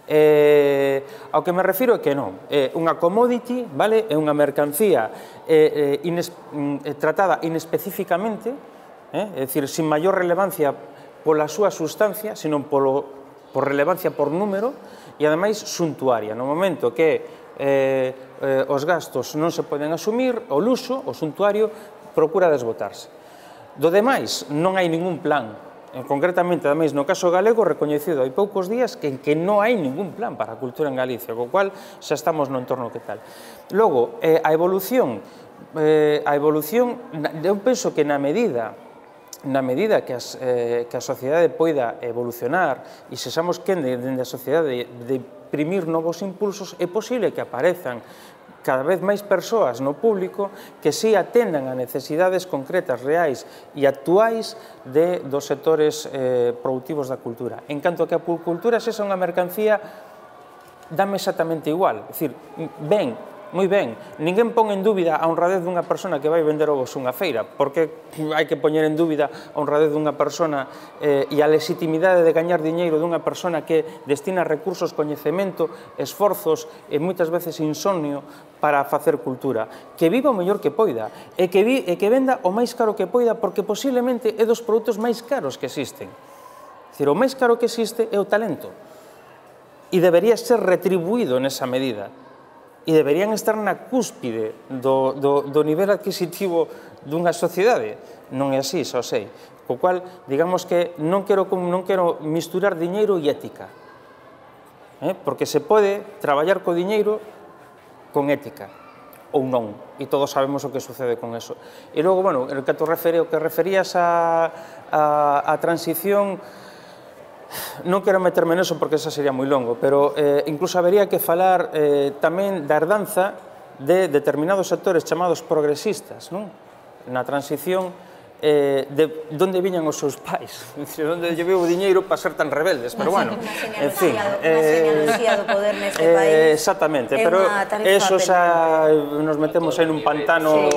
Eh, ao que me refiro é que non, é unha commodity, vale? É unha mercancía eh, eh, ines, eh, tratada inespecíficamente, eh, é dicir, sin maior relevancia pola súa sustancia, sino polo, por relevancia por número, e ademais suntuaria. No momento que eh, os gastos non se poden asumir, o luxo, o suntuario, procura desbotarse. Do demais, non hai ningún plan. Concretamente, ademais, no caso galego, recoñecido hai poucos días que, que non hai ningún plan para a cultura en Galicia, co cual xa estamos no entorno que tal. Logo, eh, a evolución, eh, a evolución, eu penso que na medida na medida que, as, eh, que a sociedade poida evolucionar e sexamos quen dende a sociedade de, de imprimir novos impulsos, é posible que aparezan cada vez máis persoas no público que si atendan a necesidades concretas, reais e actuais de, dos sectores eh, productivos da cultura. En canto que a cultura sexa unha mercancía, dame exactamente igual. É dicir, ben, moi ben, ninguén pon en dúbida a honradez dunha persona que vai vender ovos unha feira, porque hai que poñer en dúbida a honradez dunha persona eh, e a legitimidade de gañar diñeiro dunha persona que destina recursos, coñecemento, esforzos e moitas veces insomnio para facer cultura, que viva o mellor que poida e que, vi, e que venda o máis caro que poida, porque posiblemente é dos produtos máis caros que existen. É dicir, o máis caro que existe é o talento e debería ser retribuído nesa medida. E deberían estar na cúspide do, do, do nivel adquisitivo dunha sociedade. Non é así, xa sei. Co cual, digamos que non quero, non quero misturar diñeiro e ética. Eh? Porque se pode traballar co diñeiro con ética, ou non. E todos sabemos o que sucede con eso. E logo, bueno, o que te referi, o que referías a, a, a transición, non quero meterme neso porque esa sería moi longo, pero eh, incluso habería que falar eh, tamén da herdanza de determinados sectores chamados progresistas, non? Na transición eh, de onde viñan os seus pais, de onde lle veo o diñeiro para ser tan rebeldes, pero bueno, en fin, eh, do poder neste país. Eh, exactamente, pero eso xa nos metemos en un pantano.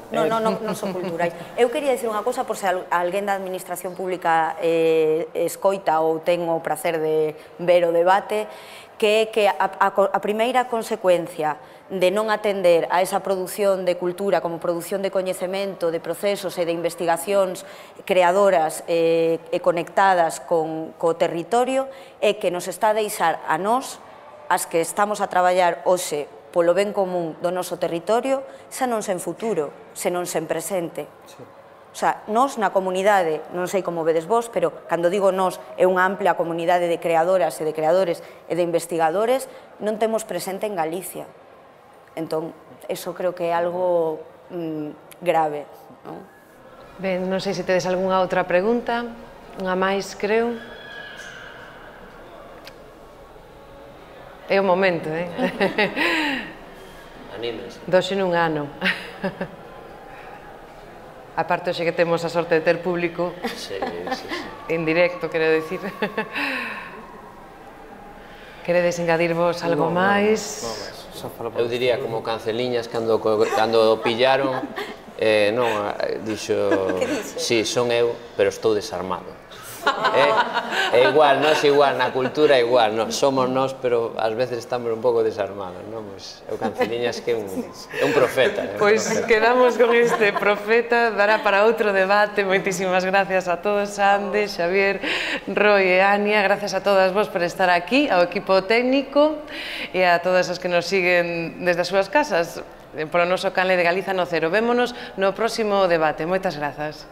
Non, non, non, non son culturais. Eu quería dicir unha cousa por se alguén da administración pública eh, escoita ou ten o prazer de ver o debate, que é que a, a, a primeira consecuencia de non atender a esa produción de cultura como produción de coñecemento, de procesos e de investigacións creadoras eh, e conectadas con co territorio é que nos está a deixar a nós, as que estamos a traballar hoxe polo ben común do noso territorio, xa non sen futuro, senón sen presente. O sea, nós na comunidade, non sei como vedes vos, pero cando digo nós é unha ampla comunidade de creadoras e de creadores e de investigadores, non temos presente en Galicia. Entón, eso creo que é algo mm, grave. Non? Ben, non sei se tedes algunha outra pregunta, unha máis, creo. É o momento, eh? Anímense. Doxe nun ano. A parte hoxe que temos a sorte de ter público. Sí, sí, sí. En directo, quero dicir. Queredes engadirvos algo máis? Eu diría como Canceliñas cando, cando pillaron, eh, non, dixo, sí, son eu, pero estou desarmado. É igual, nós igual, na cultura igual, somos nós, pero ás veces estamos un pouco desarmados, non? Eu Canceliñas que é un profeta. Pois quedamos con este profeta, dará para outro debate. Moitísimas gracias a todos, Ande, Xavier, Roy e Ania, gracias a todas vos por estar aquí, ao equipo técnico e a todas as que nos siguen desde as súas casas, polo noso canle de Galiza no Cero. Vémonos no próximo debate. Moitas grazas.